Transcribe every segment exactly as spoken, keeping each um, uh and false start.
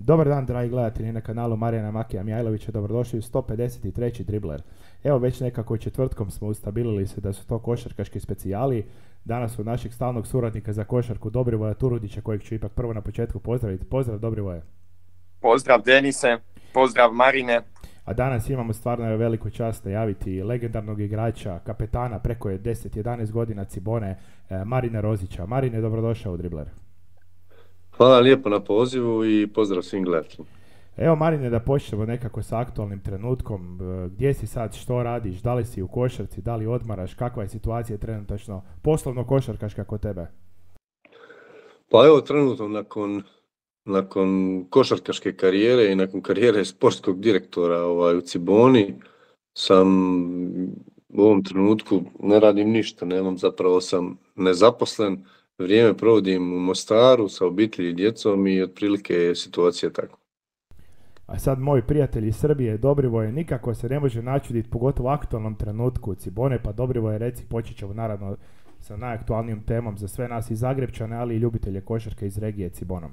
Dobar dan, dragi gledatelji na kanalu Marijana Makija Mihajlovića, dobrodošli u sto pedeset treći Dribler. Evo već nekako četvrtkom smo ustabilili se da su to košarkaški specijali. Danas od našeg stalnog suradnika za košarku Dobrivoja Turudića, kojeg ću ipak prvo na početku pozdraviti. Pozdrav Dobrivoje. Pozdrav Denise, pozdrav Marine. A danas imamo stvarno veliku čast najaviti legendarnog igrača, kapetana preko deset jedanaest godina Cibone, Marina Rozića. Marine, dobrodošao u Dribler. Hvala lijepo na pozivu i pozdrav svim gledateljima. Evo Marine, da počnemo nekako sa aktualnim trenutkom. Gdje si sad, što radiš, da li si u košarci, da li odmaraš, kakva je situacija trenutačno poslovno košarkaška kod tebe? Pa evo trenutno nakon, nakon košarkaške karijere i nakon karijere sportskog direktora ovaj, u Ciboni sam u ovom trenutku ne radim ništa, nemam, zapravo sam nezaposlen. Vrijeme provodim u Mostaru sa obitelji i djecom i otprilike je situacija tako. A sad moji prijatelji iz Srbije, Dobrivoje, nikako se ne može načuditi, pogotovo u aktualnom trenutku Cibone, pa Dobrivoje, reci, počet ćemo naravno sa najaktualnijom temom za sve nas iz Zagrepčane, ali i ljubitelje košarke iz regije Cibonom.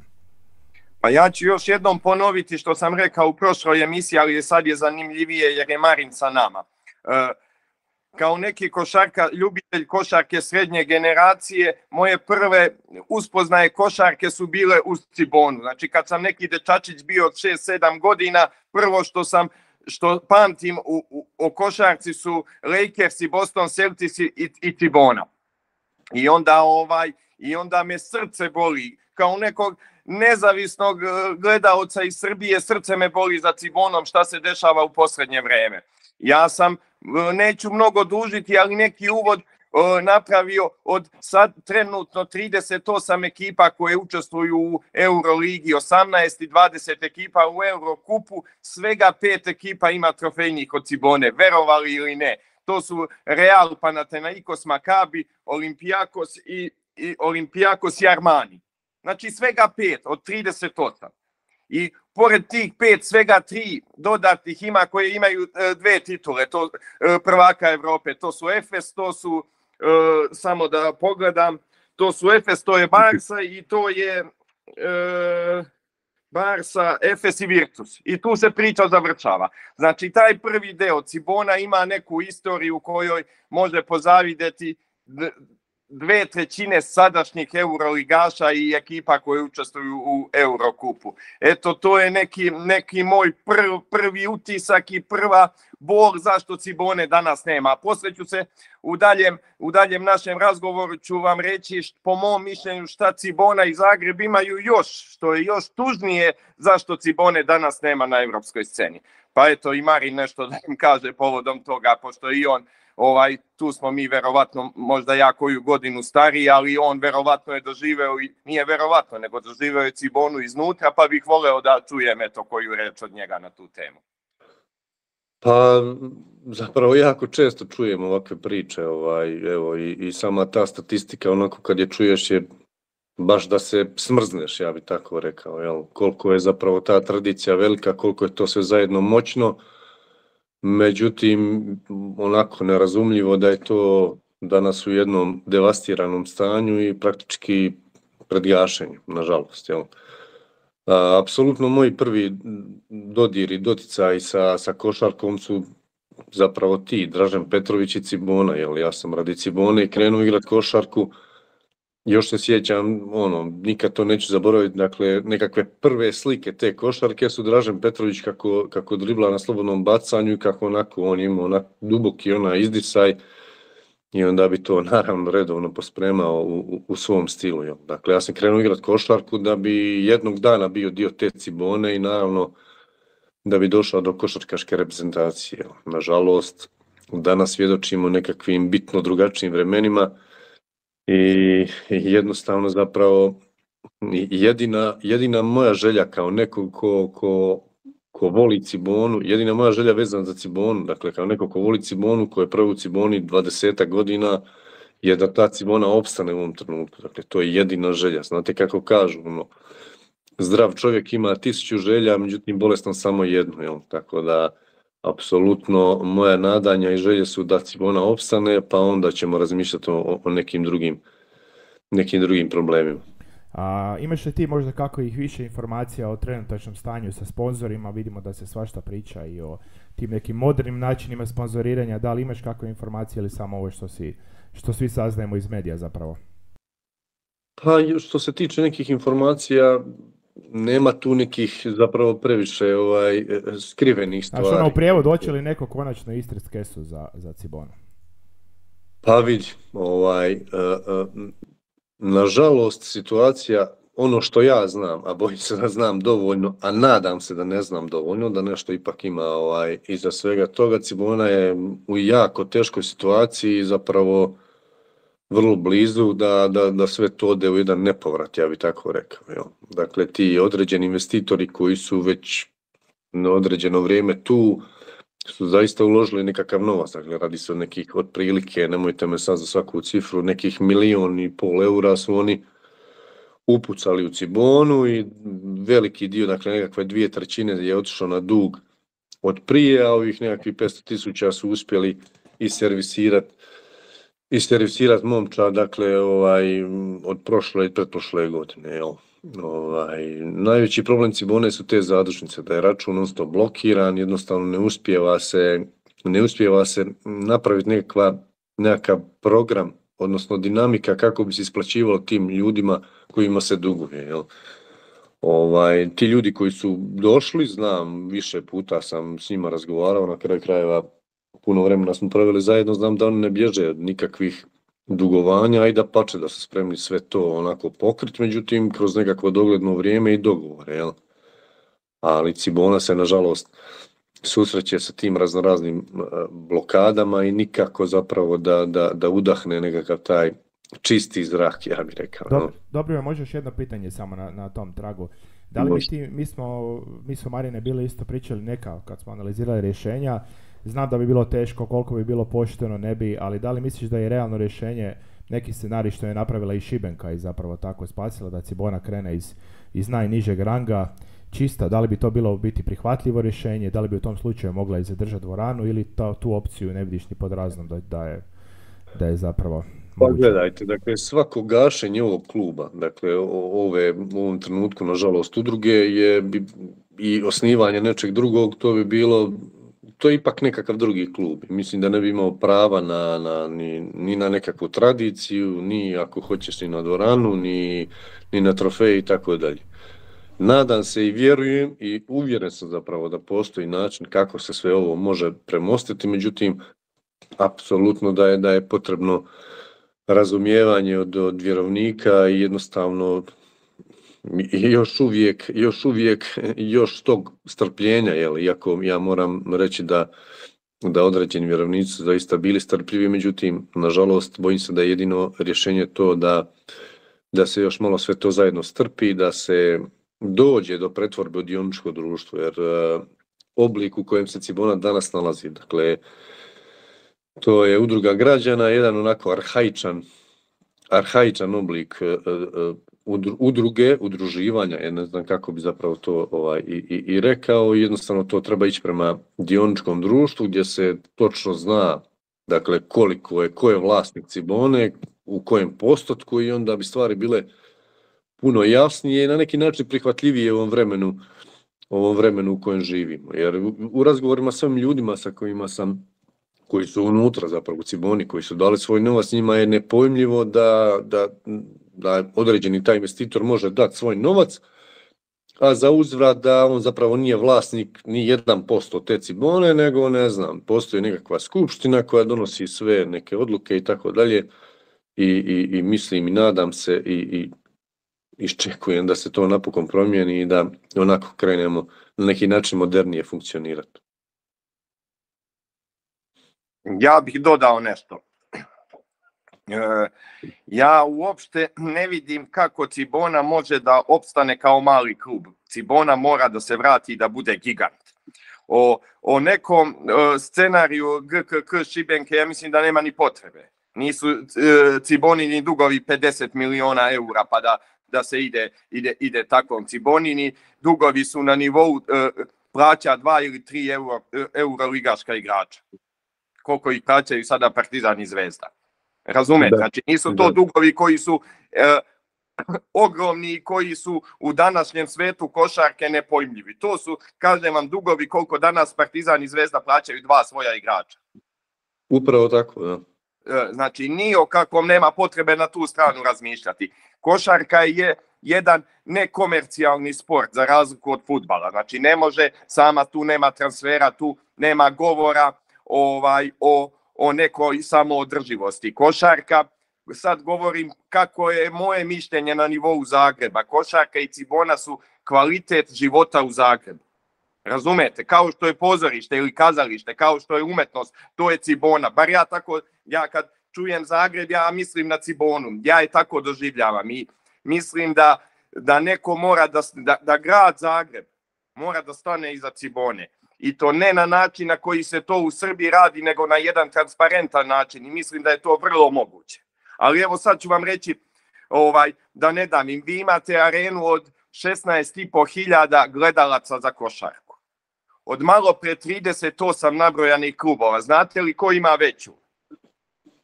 Pa ja ću još jednom ponoviti što sam rekao u prošloj emisiji, ali sad je zanimljivije jer je Marin sa nama. E, Kao neki košarka, ljubitelj košarke srednje generacije, moje prve uspoznaje košarke su bile u Cibonu. Znači kad sam neki dečačić bio od šest sedam godina, prvo što sam što pamtim u, u, o košarci su Lakersi, Boston Celtics i, i Cibona. I onda ovaj i onda me srce boli kao nekog nezavisnog gledaoca iz Srbije, srce me boli za Cibonom šta se dešava u posljednje vrijeme. Ja sam, neću mnogo dužiti, ali neki uvod napravio od sad trenutno trideset osam ekipa koje učestvuju u Euroligi, osamnaest i dvadeset ekipa u Eurokupu, svega pet ekipa ima trofejnih od Cibone, verovali ili ne. To su Real, Panathinaikos, Maccabi, Olympiakos i, i Olympiakos i Armani. Znači svega pet od trideset osam. I pored tih pet, svega tri dodatnih ima koje imaju dve titule, to prvaka Evrope, to su Efes, to su, e, samo da pogledam, to su Efes, to je Barsa i to je e, Barsa, Efes i Virtus. I tu se priča završava. Znači taj prvi deo Cibona ima neku istoriju u kojoj može pozavidjeti dve trećine sadašnjih euroligaša i ekipa koje učestvuju u Eurokupu. Eto, to je neki, neki moj prv, prvi utisak i prva bol zašto Cibone danas nema. Poslije ću se u daljem, u daljem našem razgovoru ću vam reći št, po mom mišljenju šta Cibona i Zagreb imaju još, što je još tužnije zašto Cibone danas nema na evropskoj sceni. Pa eto i Marin nešto da im kaže povodom toga, pošto i on Ovaj, tu smo mi verovatno možda ja koju godinu stariji, ali on verovatno je doživeo, i nije verovatno, nego doživeo je Cibonu iznutra, pa bih voleo da čujem eto koju reč od njega na tu temu. Pa zapravo jako često čujem ovakve priče, ovaj, evo i, i sama ta statistika, onako kad je čuješ je baš da se smrzneš, ja bih tako rekao, jel? Koliko je zapravo ta tradicija velika, koliko je to sve zajedno moćno. Međutim, onako nerazumljivo da je to danas u jednom devastiranom stanju i praktički pred gašenjem, nažalost. Jel? A, apsolutno moji prvi dodiri, doticaji sa, sa košarkom su zapravo ti, Dražen Petrović i Cibona. Jel? Ja sam radi Cibone i krenuo igrati košarku. Još se sjećam, ono, nikad to neću zaboraviti, dakle, nekakve prve slike te košarke su Dražen Petrović kako, kako dribla na slobodnom bacanju i kako onako on ima onak duboki ona izdisaj i onda bi to naravno redovno pospremao u, u, u svom stilu. Jo. Dakle, ja sam krenuo igrati košarku da bi jednog dana bio dio te Cibone i naravno da bi došao do košarkaške reprezentacije. Jo. Nažalost, danas svjedočimo nekakvim bitno drugačijim vremenima. I jednostavno zapravo jedina, jedina moja želja kao neko ko, ko, ko voli Cibonu, jedina moja želja vezana za Cibonu, dakle kao neko ko voli Cibonu, ko je prvi u Ciboni dvadeset godina, je da ta Cibona opstane u ovom trenutku. Dakle, to je jedina želja. Znate kako kažu, ono, zdrav čovjek ima tisuću želja, međutim bolestan samo jednu. Jel? Tako da, apsolutno moja nadanja i želje su da Cibona opstane, pa onda ćemo razmišljati o, o nekim drugim, nekim drugim problemima. A, imaš li ti možda kako ih više informacija o trenutačnom stanju sa sponzorima? Vidimo da se svašta priča i o tim nekim modernim načinima sponzoriranja. Da li imaš kakve informacije ili samo ovo što, si, što svi saznajemo iz medija zapravo? Pa što se tiče nekih informacija, nema tu nekih zapravo previše ovaj, skrivenih stvari. Znaš, ono u prijevodu, hoće li neko konačno istrit kesu za, za Cibonu? Pa vidi, ovaj, uh, uh, nažalost situacija, ono što ja znam, a bojim se da znam dovoljno, a nadam se da ne znam dovoljno, da nešto ipak ima ovaj, iza svega toga, Cibona je u jako teškoj situaciji, zapravo vrlo blizu da, da, da sve to ode u jedan nepovrat, ja bih tako rekao. Jel? Dakle, ti određeni investitori koji su već na određeno vrijeme tu, su zaista uložili nekakav novac, dakle radi se o nekih otprilike, nemojte me sad za svaku cifru, nekih milijon i pol eura su oni upucali u Cibonu i veliki dio, dakle nekakve dvije trećine je otišao na dug od prije, a ovih nekakvih petsto tisuća su uspjeli iservisirati iservisirat momča, dakle ovaj, od prošle i pretprošle godine, jel? Ovaj, najveći problem Cibone su te zadužnice, da je račun non stop blokiran, jednostavno ne uspijeva se, ne uspijeva se napraviti nekakva, nekakav program, odnosno dinamika kako bi se isplaćivalo tim ljudima kojima se duguje. Jel? Ovaj, ti ljudi koji su došli, znam, više puta sam s njima razgovarao, na kraju krajeva puno vremena smo proveli zajedno, znam da oni ne bježe od nikakvih dugovanja i da pače da su spremni sve to onako pokriti, međutim kroz nekakvo dogledno vrijeme i dogovore, jel? Ali Cibona se nažalost susreće sa tim raznoraznim blokadama i nikako zapravo da, da, da udahne nekakav taj čisti zrak, ja bih rekao. Dobro, dobro, može još jedno pitanje samo na, na tom tragu. Da li mi, ti, mi smo, mi smo Marine bili isto pričali neka kad smo analizirali rješenja, znam da bi bilo teško, koliko bi bilo pošteno, ne bi, ali da li misliš da je realno rješenje neki scenarij što je napravila i Šibenka i zapravo tako spasila da Cibona krene iz, iz najnižeg ranga čista, da li bi to bilo biti prihvatljivo rješenje, da li bi u tom slučaju mogla i zadržati dvoranu ili to, tu opciju ne vidiš ni pod raznom da, da, je, da je zapravo Pa gledajte, dakle svako gašenje ovog kluba, dakle ove, u ovom trenutku nažalost udruge je bi, i osnivanje nečeg drugog, to bi bilo, to je ipak nekakav drugi klub. Mislim da ne bi imao prava na, na, ni, ni na nekakvu tradiciju, ni ako hoćeš ni na dvoranu, ni, ni na trofej i tako dalje. Nadam se i vjerujem i uvjeren sam zapravo da postoji način kako se sve ovo može premostiti, međutim, apsolutno da je, da je potrebno razumijevanje od, od vjerovnika i jednostavno još uvijek, još uvijek, još tog strpljenja, jel, iako ja moram reći da, da određeni vjerovnici su zaista bili strpljivi, međutim, nažalost, bojim se da je jedino rješenje to da, da se još malo sve to zajedno strpi, da se dođe do pretvorbe u dioničko društvo, jer uh, oblik u kojem se Cibona danas nalazi, dakle, to je udruga građana, jedan onako arhaičan, arhaičan oblik uh, uh, udruge, udruživanja, ja ne znam kako bi zapravo to ovaj, i, i, i rekao, jednostavno to treba ići prema dioničkom društvu gdje se točno zna, dakle, koliko je, ko je vlasnik Cibone, u kojem postotku i onda bi stvari bile puno jasnije i na neki način prihvatljivije u ovom vremenu, ovom vremenu u kojem živimo. Jer u, u razgovorima s ovim ljudima sa kojima sam, koji su unutra zapravo u Ciboni, koji su dali svoj novac, njima je nepojmljivo da, da, da određeni taj investitor može dati svoj novac, a za uzvrat da on zapravo nije vlasnik ni jedan posto te Cibone, nego ne znam, postoji nekakva skupština koja donosi sve neke odluke i tako dalje i, i, i mislim i nadam se i, i iščekujem da se to napokon promijeni i da onako krenemo na neki način modernije funkcionirati. Ja bih dodao nešto. E, ja uopšte ne vidim kako Cibona može da opstane kao mali klub. Cibona mora da se vrati i da bude gigant. O, o nekom e, scenariju G K K Šibenke ja mislim da nema ni potrebe. Nisu e, Cibonini dugovi pedeset miliona eura pa da, da se ide, ide, ide takvom. Cibonini dugovi su na nivou e, plaća dva ili tri euro, euro ligaška igrača. Koliko ih plaćaju sada Partizan i Zvezda. Razumete? Znači nisu to dugovi koji su e, ogromni koji su u današnjem svetu košarke nepojmljivi. To su, kažem vam, dugovi koliko danas Partizan i Zvezda plaćaju dva svoja igrača. Upravo tako, da. Znači, ni o kakvom nema potrebe na tu stranu razmišljati. Košarka je jedan nekomercijalni sport za razliku od fudbala. Znači, ne može sama, tu nema transfera, tu nema govora ovaj, o, o nekoj samoodrživosti. Košarka, sad govorim kako je moje mišljenje na nivou Zagreba. Košarka i Cibona su kvalitet života u Zagrebu. Razumete? Kao što je pozorište ili kazalište, kao što je umetnost, to je Cibona. Bar ja tako, ja kad čujem Zagreb, ja mislim na Cibonu. Ja je tako doživljavam i mislim da, da neko mora da, da, da grad Zagreb mora da stane iza Cibone. I to ne na način na koji se to u Srbiji radi, nego na jedan transparentan način. I mislim da je to vrlo moguće. Ali evo sad ću vam reći, ovaj, da ne dam im, vi imate arenu od šesnaest i po hiljada gledalaca za košarku. Od malo pre trideset osam nabrojanih klubova. Znate li ko ima veću?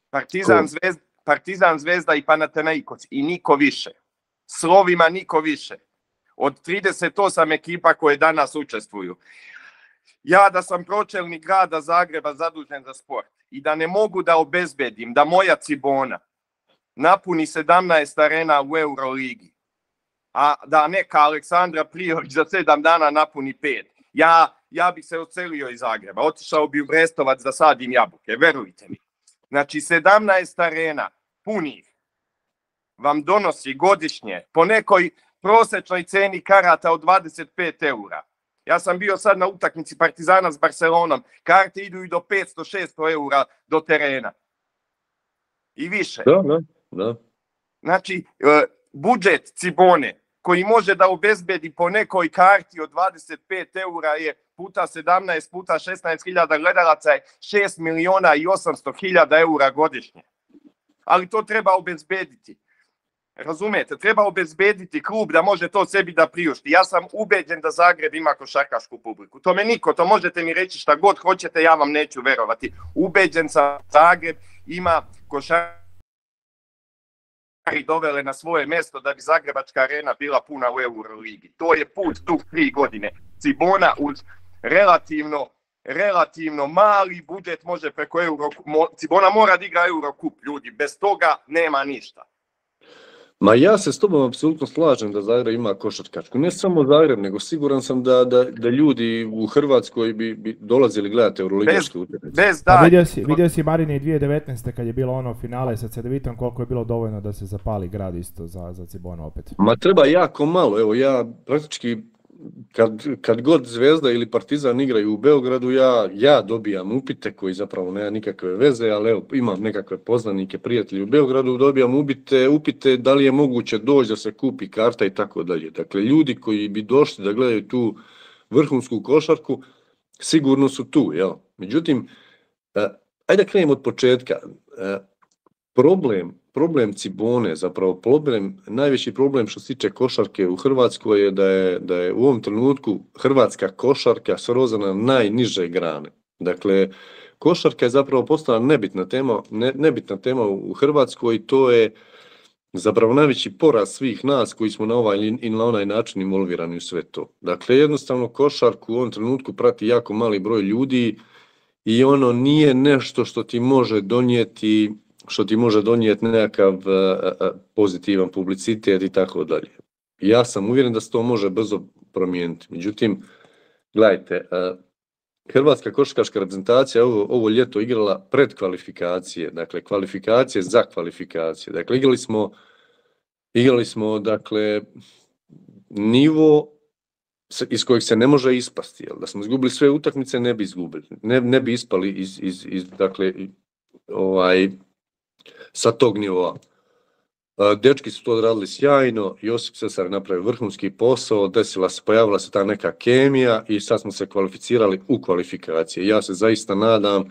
Partizan, Zvezda, Partizan, Zvezda i Panathinaikos i niko više. Slovima niko više. Od trideset osam ekipa koje danas učestvuju. Ja da sam pročelnik grada Zagreba zadužen za sport i da ne mogu da obezbedim da moja Cibona napuni sedamnaest arena u Euroligi, a da neka Aleksandra Prijović za sedam dana napuni pet, ja, ja bih se odselio iz Zagreba, otišao bi u Brestovac da sadim jabuke, verujte mi. Znači sedamnaest arena punih vam donosi godišnje po nekoj prosečnoj ceni karata od dvadeset pet eura. Ja sam bio sad na utakmici Partizana s Barcelonom, karte idu i do petsto šesto eura do terena. I više. Da, da, da. Znači, budžet Cibone koji može da obezbedi po nekoj karti od dvadeset pet eura je puta sedamnaest puta šesnaest hiljada gledalaca je šest miliona i osamsto hiljada eura godišnje. Ali to treba obezbediti. Razumete, treba obezbediti klub da može to sebi da priušti. Ja sam ubeđen da Zagreb ima košarkašku publiku. To me niko, to možete mi reći šta god hoćete, ja vam neću verovati. Ubeđen sam Zagreb ima košarkašku dovele na svoje mesto da bi Zagrebačka arena bila puna u Euroligi. To je put tu tri godine. Cibona uz relativno, relativno mali budžet može preko Eurokup. Cibona mora da igra Eurokup, ljudi. Bez toga nema ništa. Ma ja se s tobom apsolutno slažem da Zagreb ima košarkačku. Ne samo Zagreb, nego siguran sam da, da, da ljudi u Hrvatskoj bi, bi dolazili gledati euroligaške utakmice. Bez da. Vidio si, vidio si Marine dvije tisuće devetnaeste kad je bilo ono finale sa Cedevitom, koliko je bilo dovoljno da se zapali grad isto za, za Cibonu opet. Ma treba jako malo. Evo ja praktički kad, kad god Zvezda ili Partizan igraju u Beogradu, ja, ja dobijam upite koji zapravo nema nikakve veze, ali evo, imam nekakve poznanike, prijatelji u Beogradu, dobijam upite, upite da li je moguće doći da se kupi karta i tako dalje. Dakle, ljudi koji bi došli da gledaju tu vrhunsku košarku, sigurno su tu. Jel? Međutim, ajde da krenem od početka. Problem Problem Cibone, zapravo problem, najveći problem što se tiče košarke u Hrvatskoj je da je, da je u ovom trenutku hrvatska košarka srozana na najniže grane. Dakle, košarka je zapravo postala nebitna tema, ne, nebitna tema u Hrvatskoj i to je zapravo najveći poraz svih nas koji smo na ovaj ili na onaj način involvirani u sve to. Dakle, jednostavno košarku u ovom trenutku prati jako mali broj ljudi i ono nije nešto što ti može donijeti što ti može donijeti nekakav uh, pozitivan publicitet i tako dalje. Ja sam uvjeren da se to može brzo promijeniti. Međutim, gledajte, uh, Hrvatska košarkaška reprezentacija ovo, ovo ljeto igrala predkvalifikacije, dakle kvalifikacije za kvalifikacije. Dakle, igrali smo, igrali smo dakle, nivo iz kojeg se ne može ispasti. Jel? Da smo izgubili sve utakmice, ne bi izgubili. Ne, ne bi ispali iz, iz, iz dakle, ovaj, sa tog nivoa. Dečki su to odradili sjajno, Josip Sesar napravio vrhunski posao, desila se, pojavila se ta neka kemija i sad smo se kvalificirali u kvalifikacije. Ja se zaista nadam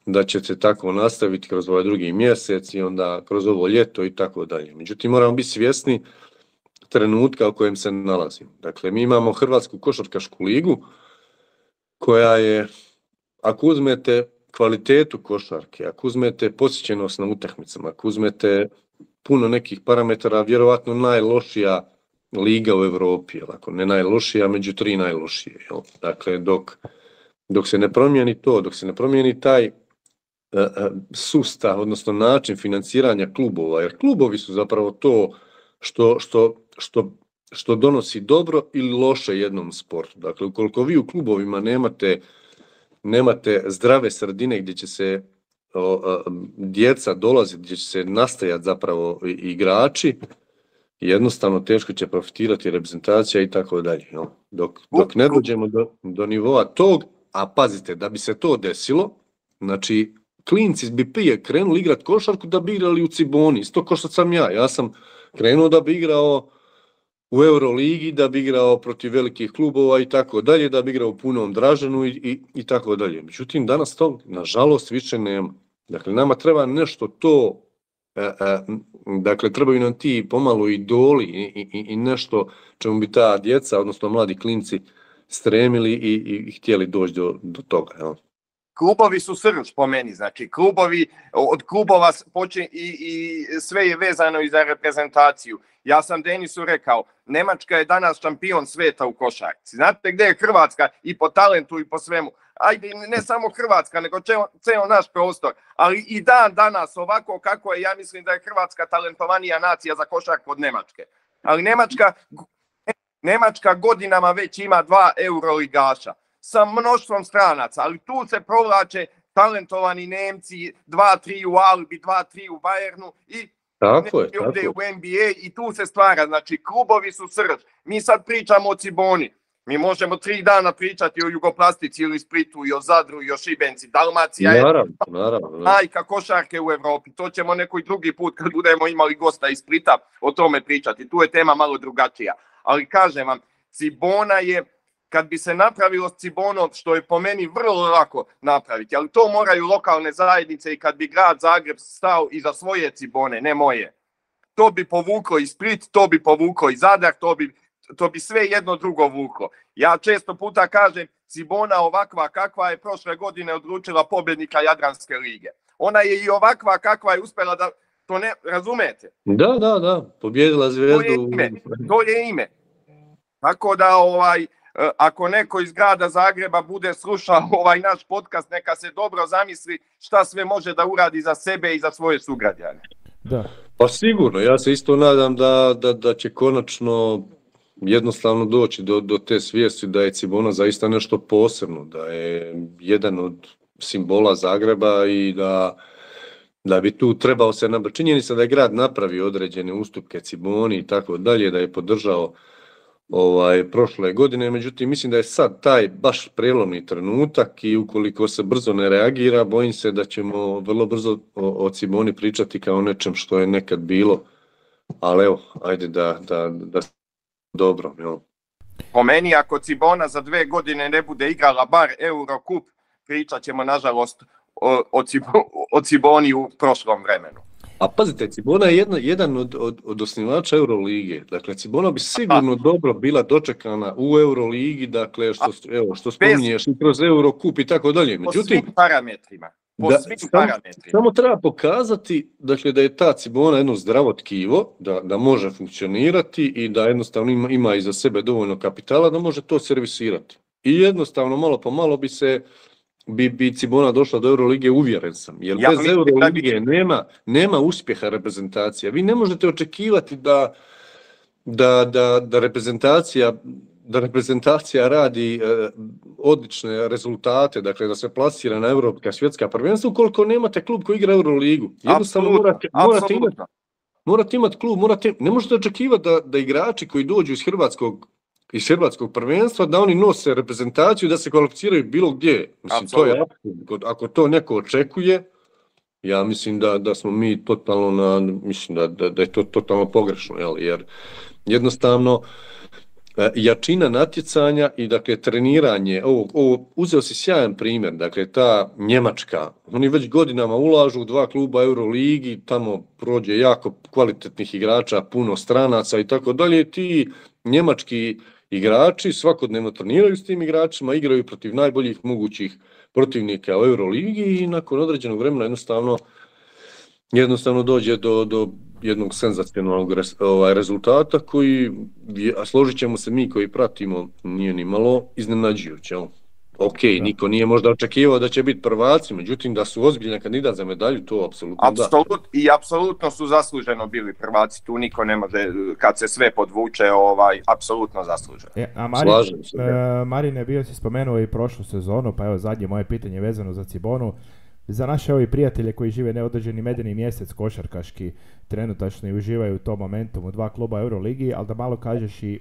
da će se tako nastaviti kroz ovaj drugi mjesec i onda kroz ovo ljeto i tako dalje. Međutim, moramo biti svjesni trenutka u kojem se nalazimo. Dakle, mi imamo Hrvatsku košarkašku ligu koja je, ako uzmete kvalitetu košarke, ako uzmete posjećenost na utakmicama, ako uzmete puno nekih parametara, vjerovatno najlošija liga u Europi, ako ne najlošija, među tri najlošije. Jel? Dakle, dok, dok se ne promijeni to, dok se ne promijeni taj uh, sustav, odnosno način financiranja klubova, jer klubovi su zapravo to što, što, što, što donosi dobro ili loše jednom sportu. Dakle, ukoliko vi u klubovima nemate, nemate zdrave sredine gdje će se o, o, djeca dolaziti, gdje će se nastajati zapravo igrači, jednostavno teško će profitirati reprezentacija i tako dalje. Dok, dok ne dođemo do, do nivoa tog, a pazite, da bi se to desilo, znači klinci bi prije krenuli igrati košarku da bi igrali u Ciboni, isto kao što sam ja. Ja sam krenuo da bi igrao u Euroligi, da bi igrao protiv velikih klubova i tako dalje, da bi igrao u punom Draženu i, i, i tako dalje. Međutim, danas to, nažalost, više nema. Dakle, nama treba nešto to, e, e, dakle, trebaju nam ti pomalo idoli i, i, i nešto čemu bi ta djeca, odnosno mladi klinci, stremili i, i, i htjeli doći do, do toga. Ja. Klubovi su srž po meni, znači klubovi, od klubova počne i, i sve je vezano i za reprezentaciju. Ja sam Denisu rekao, Nemačka je danas šampion sveta u košarci. Znate gdje je Hrvatska i po talentu i po svemu? Ajde, ne samo Hrvatska, nego ceo naš prostor. Ali i dan danas, ovako kako je, ja mislim da je Hrvatska talentovanija nacija za košarku od Nemačke. Ali Nemačka, Nemačka godinama već ima dva euroligaša sa mnoštvom stranaca, ali tu se provlače talentovani Nemci, dva, tri u Albi, dva, tri u Bayernu i tako je, tako u N B A i tu se stvara, znači klubovi su srž. Mi sad pričamo o Ciboni, mi možemo tri dana pričati o Jugoplastici ili Splitu i o Zadru i o Šibenci, Dalmacija je naravno, naravno, majka košarke u Evropi, to ćemo neki drugi put kad budemo imali gosta iz Splita o tome pričati, tu je tema malo drugačija, ali kažem vam, Cibona je, kad bi se napravilo s Cibonom, što je po meni vrlo lako napraviti, ali to moraju lokalne zajednice i kad bi grad Zagreb stao iza svoje Cibone, ne moje. To bi povuklo i Split, to bi povuklo i Zadar, to bi, to bi sve jedno drugo vuklo. Ja često puta kažem, Cibona ovakva kakva je prošle godine odlučila pobjednika Jadranske lige. Ona je i ovakva kakva je uspjela da, to ne, razumete? Da, da, da, pobjedila Zvezdu. To je ime, to je ime. Tako da, ovaj, ako neko iz grada Zagreba bude slušao ovaj naš podcast, neka se dobro zamisli šta sve može da uradi za sebe i za svoje sugrađane. Da. Pa sigurno, ja se isto nadam da, da, da će konačno jednostavno doći do, do te svijesti da je Cibona zaista nešto posebno, da je jedan od simbola Zagreba i da, da bi tu trebao se napraviti. Činjenica da je grad napravio određene ustupke Ciboni i tako dalje, da je podržao ovaj prošle godine, međutim mislim da je sad taj baš prelomni trenutak i ukoliko se brzo ne reagira, bojim se da ćemo vrlo brzo o, o Ciboni pričati kao nečem što je nekad bilo, ali evo, ajde da, da, da dobro. Jel? Po meni, ako Cibona za dve godine ne bude igrala bar Eurocup, pričat ćemo nažalost o, o, Cibo, o Ciboni u prošlom vremenu. A pazite, Cibona je jedna, jedan od, od, od osnivača Eurolige. Dakle, Cibona bi sigurno A. dobro bila dočekana u Euroligi, dakle, što, evo, što spominješ i kroz Eurocup i tako dalje. Međutim, po svim parametrima. Po da, svim sam, parametrima. Samo treba pokazati dakle, da je ta Cibona jedno zdravo tkivo, da, da može funkcionirati i da jednostavno ima, ima iza sebe dovoljno kapitala da može to servisirati. I jednostavno, malo po malo bi se bi, bi Cibona došla do Eurolige, uvjeren sam. Jer ja, bez Eurolige bi... nema, nema uspjeha reprezentacija. Vi ne možete očekivati da, da, da, da reprezentacija da reprezentacija radi e, odlične rezultate, dakle da se plasira na evropska svjetska prvenstva, ukoliko nemate klub koji igra Euroligu. Jednostavno morate, morate, imati, morate imati klub, morate, ne možete očekivati da, da igrači koji dođu iz hrvatskog iz hrvatskog prvenstva, da oni nose reprezentaciju, da se kvalificiraju bilo gdje. Mislim, to je, ako to neko očekuje, ja mislim da, da smo mi totalno na, mislim da, da, da je to totalno pogrešno, jel? Jer jednostavno jačina natjecanja i dakle treniranje, ovo, ovo uzeo si sjajan primjer, dakle ta Njemačka, oni već godinama ulažu u dva kluba Euroligi, tamo prođe jako kvalitetnih igrača, puno stranaca i tako dalje, ti njemački igrači svakodnevno treniraju s tim igračima, igraju protiv najboljih mogućih protivnika u Euroligi i nakon određenog vremena jednostavno jednostavno dođe do, do jednog senzacionalnog res, ovaj, rezultata koji, a složit ćemo se mi koji pratimo, nije ni malo iznenađujuće. Ok, da. Niko nije možda očekivao da će biti prvaci, međutim da su ozbiljan kandidat za medalju, to apsolutno da. Apsolut, I apsolutno su zasluženo bili prvaci, tu niko ne može, kad se sve podvuče, ovaj, apsolutno zasluženo. E, a Marin, Slažem se. E, Marine, bio si spomenuo i prošlu sezonu, pa evo zadnje moje pitanje vezano za Cibonu. Za naše ovi prijatelje koji žive neodređeni medeni mjesec košarkaški, trenutačno i uživaju u tom momentum u dva kluba Euroligi, ali da malo kažeš i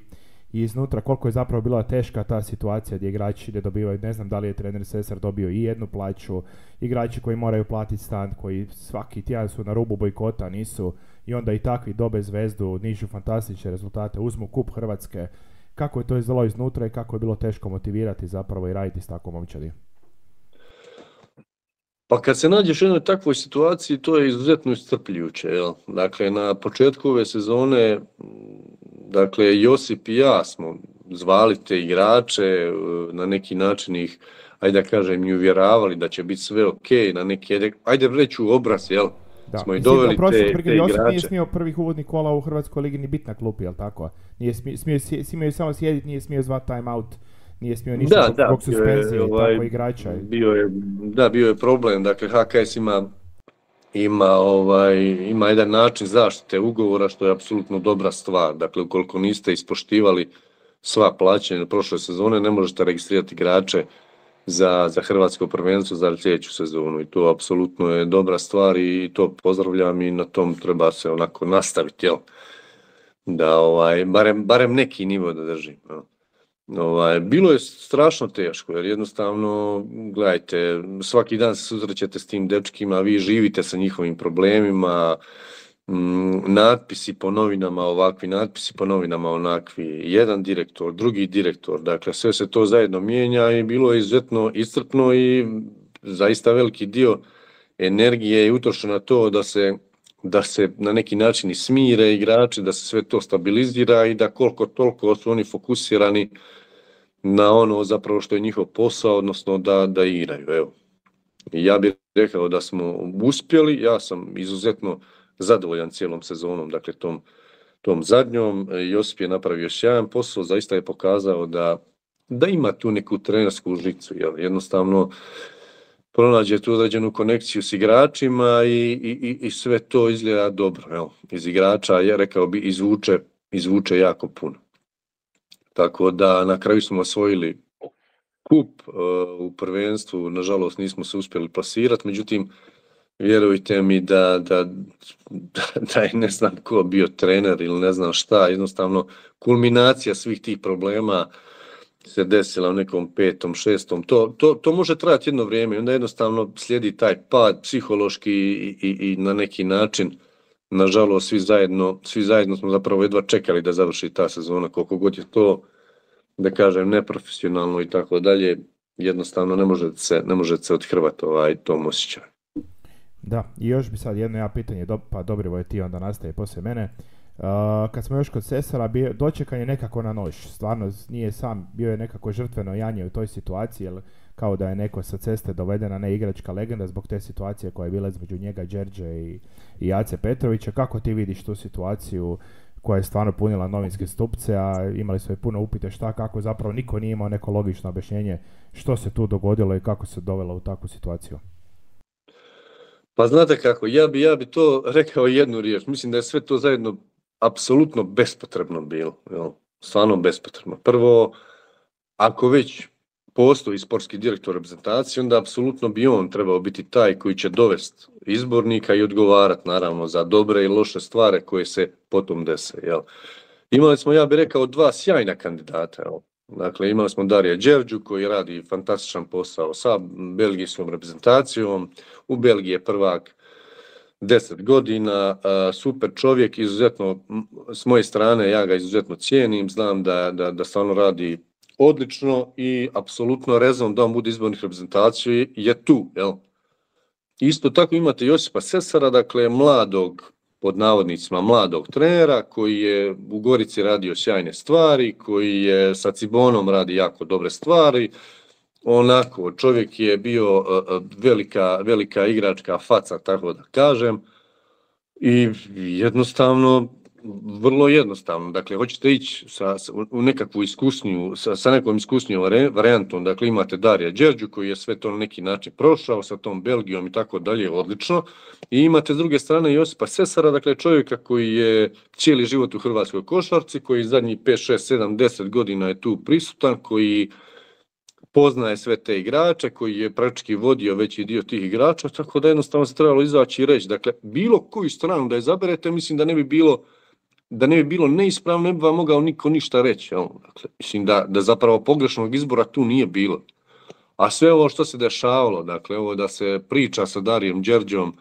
i iznutra koliko je zapravo bila teška ta situacija gdje igrači ne dobivaju, ne znam da li je trener Sesar dobio i jednu plaću, igrači koji moraju platiti stan, koji svaki tjedan su na rubu bojkota, nisu, i onda i takvi dobe zvezdu, nižu fantastične rezultate, uzmu kup Hrvatske. Kako je to izgledalo iznutra i kako je bilo teško motivirati zapravo i raditi s takvom momčadi? Pa kad se nađeš u jednoj takvoj situaciji, to je izuzetno iscrpljujuće. Jel? Dakle, na početku ove sezone, dakle, Josip i ja smo zvali te igrače, na neki način ih, ajde da kažem, i uvjeravali da će biti sve ok, na neki, ajde reći u obraz, jel? Da. Smo i doveli prosim, te, te Josip igrače. Nije smio prvih uvodnih kola u Hrvatskoj ligi ni biti na klupi, jel tako? Nije smio, smio, smio samo sjediti, nije smio zvati time out. Nije smio ništa da, zbog suspenzije i ovaj, tako igrača. Bio je, da, bio je problem. Dakle, H K S ima, ima, ovaj, ima jedan način zaštite ugovora što je apsolutno dobra stvar. Dakle, ukoliko niste ispoštivali sva plaćanja prošle sezone, ne možete registrirati igrače za, za hrvatsko prvenstvo za sljedeću sezonu. I to apsolutno je dobra stvar i to pozdravljam i na tom treba se onako nastaviti, jel? Da, ovaj, barem, barem neki nivo da drži. No. Ovaj, bilo je strašno teško jer jednostavno, gledajte, svaki dan se susrećete s tim dečkima, vi živite sa njihovim problemima, m, natpisi po novinama ovakvi, natpisi po novinama onakvi, jedan direktor, drugi direktor, dakle sve se to zajedno mijenja i bilo je izuzetno iscrpno i zaista veliki dio energije je utrošen na to da se da se na neki način i smire igrači, da se sve to stabilizira i da koliko toliko su oni fokusirani na ono zapravo što je njihov posao, odnosno da, da igraju. Evo. Ja bih rekao da smo uspjeli, ja sam izuzetno zadovoljan cijelom sezonom, dakle tom, tom zadnjom. Josip je napravio sjajan posao, zaista je pokazao da, da ima tu neku trenersku žicu, jel? Jednostavno pronađe tu određenu konekciju s igračima i, i, i sve to izgleda dobro. Evo, iz igrača, ja rekao bi, izvuče, izvuče jako puno. Tako da na kraju smo osvojili kup uh, u prvenstvu, nažalost nismo se uspjeli plasirati, međutim, vjerujte mi da, da, da, da je ne znam ko bio trener ili ne znam šta, jednostavno kulminacija svih tih problema se desila u nekom petom, šestom, to, to, to može trajati jedno vrijeme i onda jednostavno slijedi taj pad psihološki i, i, i na neki način, nažalost, svi zajedno, svi zajedno smo zapravo jedva čekali da završi ta sezona, koliko god je to, da kažem, neprofesionalno i tako dalje, jednostavno ne može se, ne može se odhrvati ovaj tom osjećaju. Da, i još bi sad jedno ja pitanje, do, pa Dobrivoje ti onda nastaje poslije mene. Uh, kad smo još kod Sesara, bio, dočekan je nekako na nož, stvarno nije sam, bio je nekako žrtveno janje u toj situaciji, jer kao da je neko sa ceste dovedena ne igračka legenda zbog te situacije koja je bila između njega, Đerđe i, i Ace Petrovića. Kako ti vidiš tu situaciju koja je stvarno punila novinske stupce, a imali su i puno upite šta, kako zapravo niko nije imao neko logično objašnjenje što se tu dogodilo i kako se dovelo u takvu situaciju? Pa znate kako, ja bi, ja bi to rekao jednu riječ, mislim da je sve to zajedno apsolutno bespotrebno bilo, jel? Stvarno bespotrebno. Prvo, ako već postoji sportski direktor reprezentacije, onda apsolutno bi on trebao biti taj koji će dovesti izbornika i odgovarati naravno za dobre i loše stvari koje se potom dese. Jel? Imali smo, ja bih rekao, dva sjajna kandidata. Jel? Dakle, imali smo Darija Đerđu koji radi fantastičan posao sa belgijskom reprezentacijom. U Belgiji je prvak deset godina, super čovjek, izuzetno s moje strane, ja ga izuzetno cijenim, znam da, da, da stvarno radi odlično i apsolutno rezon da on bude izbornih reprezentaciji je tu. Jel? Isto tako imate Josipa Sesara, dakle mladog, pod navodnicima mladog trenera koji je u Gorici radio sjajne stvari, koji je sa Cibonom radi jako dobre stvari. Onako, čovjek je bio velika, velika igračka faca, tako da kažem. I jednostavno, vrlo jednostavno, dakle, hoćete ići sa, sa, u nekakvu iskusniju, sa, sa nekom iskusnijom varijantom, dakle, imate Darija Đerđu koji je sve to na neki način prošao sa tom Belgijom i tako dalje, odlično, i imate s druge strane Josipa Sesara, dakle, čovjeka koji je cijeli život u hrvatskoj košarci, koji zadnjih pet, šest, sedam, deset godina je tu prisutan, koji poznaje sve te igrače, koji je praktički vodio veći dio tih igrača, tako da jednostavno se trebalo izaći i reći, dakle, bilo koju stranu da izaberete, mislim da ne bi bilo da ne bi bilo neispravno, ne bi vam mogao niko ništa reći. Dakle, mislim da, da zapravo pogrešnog izbora tu nije bilo. A sve ovo što se dešavalo, dakle, ovo da se priča sa Darijem Đerđom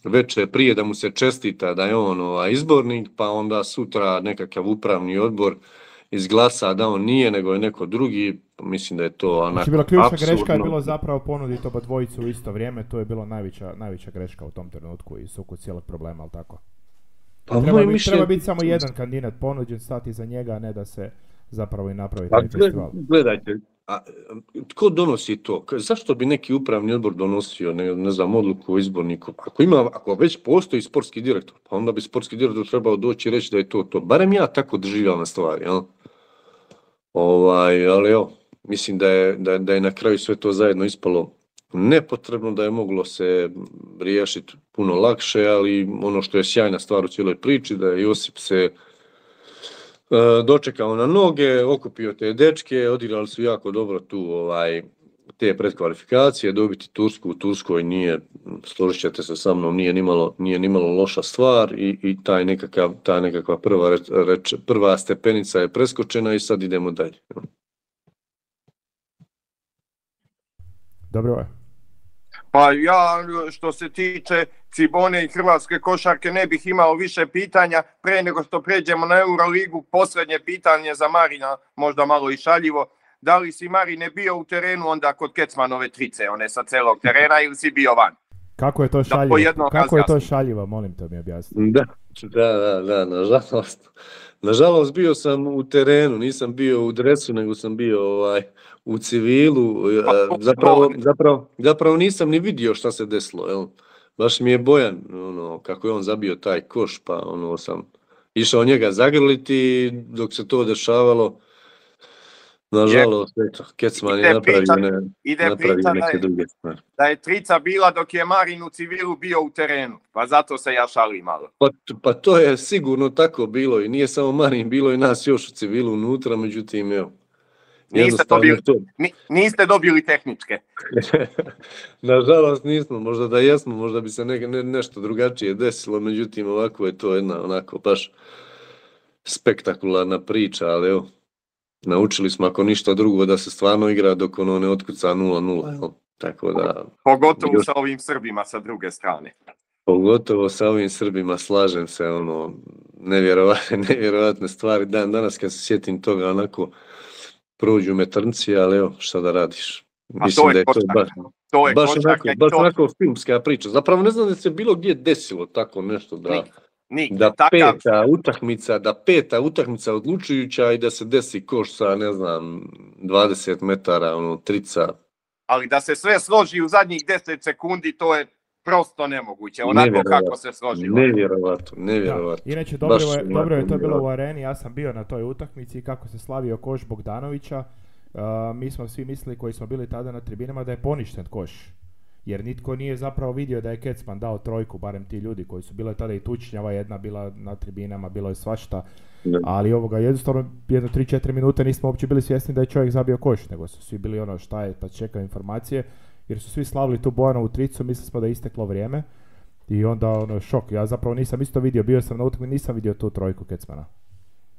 veče prije da mu se čestita da je on ovaj, izbornik, pa onda sutra nekakav upravni odbor izglasa da on nije, nego je neko drugi, mislim da je to onako znači, bila ključna apsurdno. greška je bilo zapravo ponuditi oba dvojicu u isto vrijeme, to je bilo najveća, najveća greška u tom trenutku i sukus cijelog problema, ali tako? Pa treba, biti, mišljen... treba biti samo jedan kandidat ponuđen, stati za njega, a ne da se zapravo i napravi taj pa, festival. Gledajte, a, tko donosi to? Zašto bi neki upravni odbor donosio, ne, ne znam, odluku o izborniku? Ako, ima, ako već postoji sportski direktor, pa onda bi sportski direktor trebao doći i reći da je to to. Barem ja tako doživljam na stvari, jel? Ovaj, ali evo, mislim da je, da, da je na kraju sve to zajedno ispalo nepotrebno, da je moglo se riješiti puno lakše, ali ono što je sjajna stvar u cijeloj priči, da je Josip se e, dočekao na noge, okupio te dečke, odigrali su jako dobro tu ovaj, te predkvalifikacije, dobiti Tursku u Turskoj nije, složit ćete se sa mnom, nije nimalo, nije nimalo loša stvar i, i taj nekakav, ta nekakva prva, reč, prva stepenica je preskočena i sad idemo dalje. Dobro je. Pa ja, što se tiče Cibone i hrvatske košarke, ne bih imao više pitanja. Pre nego što pređemo na Euroligu, posljednje pitanje za Marina, možda malo i šaljivo. Da li si, Marine, bio u terenu onda kod Kecmanove trice, one sa celog terena, ili si bio van? Kako je to šaljivo? Kako je to šaljivo, molim te mi objasniti. Da, da, da, da, nažalost. Nažalost, bio sam u terenu, nisam bio u dresu, nego sam bio ovaj, u civilu. Zapravo, zapravo, zapravo nisam ni vidio šta se desilo. Jel? Baš mi je Bojan, ono, kako je on zabio taj koš, pa ono, sam išao njega zagrliti dok se to dešavalo. Nažalost, eto, Kecman je napravio, ne, napravio neke druge stvari. Da je trica bila dok je Marin u civilu bio u terenu, pa zato se ja šalim malo. Pa, pa to je sigurno tako bilo i nije samo Marin, bilo i nas još u civilu unutra, međutim, evo. Niste dobili, to... niste dobili tehničke. Nažalost nismo, možda da jesmo, možda bi se ne, ne, nešto drugačije desilo, međutim, ovako je to jedna onako baš spektakularna priča, ali evo. Naučili smo ako ništa drugo da se stvarno igra dok ono ne otkuca nula nula. Tako da... Pogotovo još... sa ovim Srbima sa druge strane. Pogotovo sa ovim Srbima, slažem se, ono, nevjerovatne, nevjerovatne stvari. Dan danas kad se sjetim toga, onako, prođu me trnci, ali evo, šta da radiš. Mislim to da je to baš, to je baš, onako, baš to... onako filmska priča. Zapravo ne znam da se bilo gdje desilo tako nešto da... Nik. Nik, da takav... peta utakmica, da peta utakmica odlučujuća i da se desi koš sa, ne znam, dvadeset metara, ono, trica. Ali da se sve složi u zadnjih deset sekundi, to je prosto nemoguće, onako kako se složilo. Nevjerovatno, nevjerovatno. Da. Inače, dobro je, dobro je to bilo u areni, ja sam bio na toj utakmici kako se slavio koš Bogdanovića. Uh, mi smo svi mislili koji smo bili tada na tribinama da je poništen koš. Jer nitko nije zapravo vidio da je Kecman dao trojku, barem ti ljudi koji su bile tada i tučnjava, jedna bila na tribinama, bilo je svašta. Ne. Ali ovoga, jednostavno, jedno tri četiri minute nismo uopće bili svjesni da je čovjek zabio koš, nego su svi bili ono šta je, pa čekaju informacije, jer su svi slavili tu Bojanovu tricu, mislili smo da je isteklo vrijeme i onda ono šok. Ja zapravo nisam isto vidio, bio sam na utakmici, nisam vidio tu trojku Kecmana.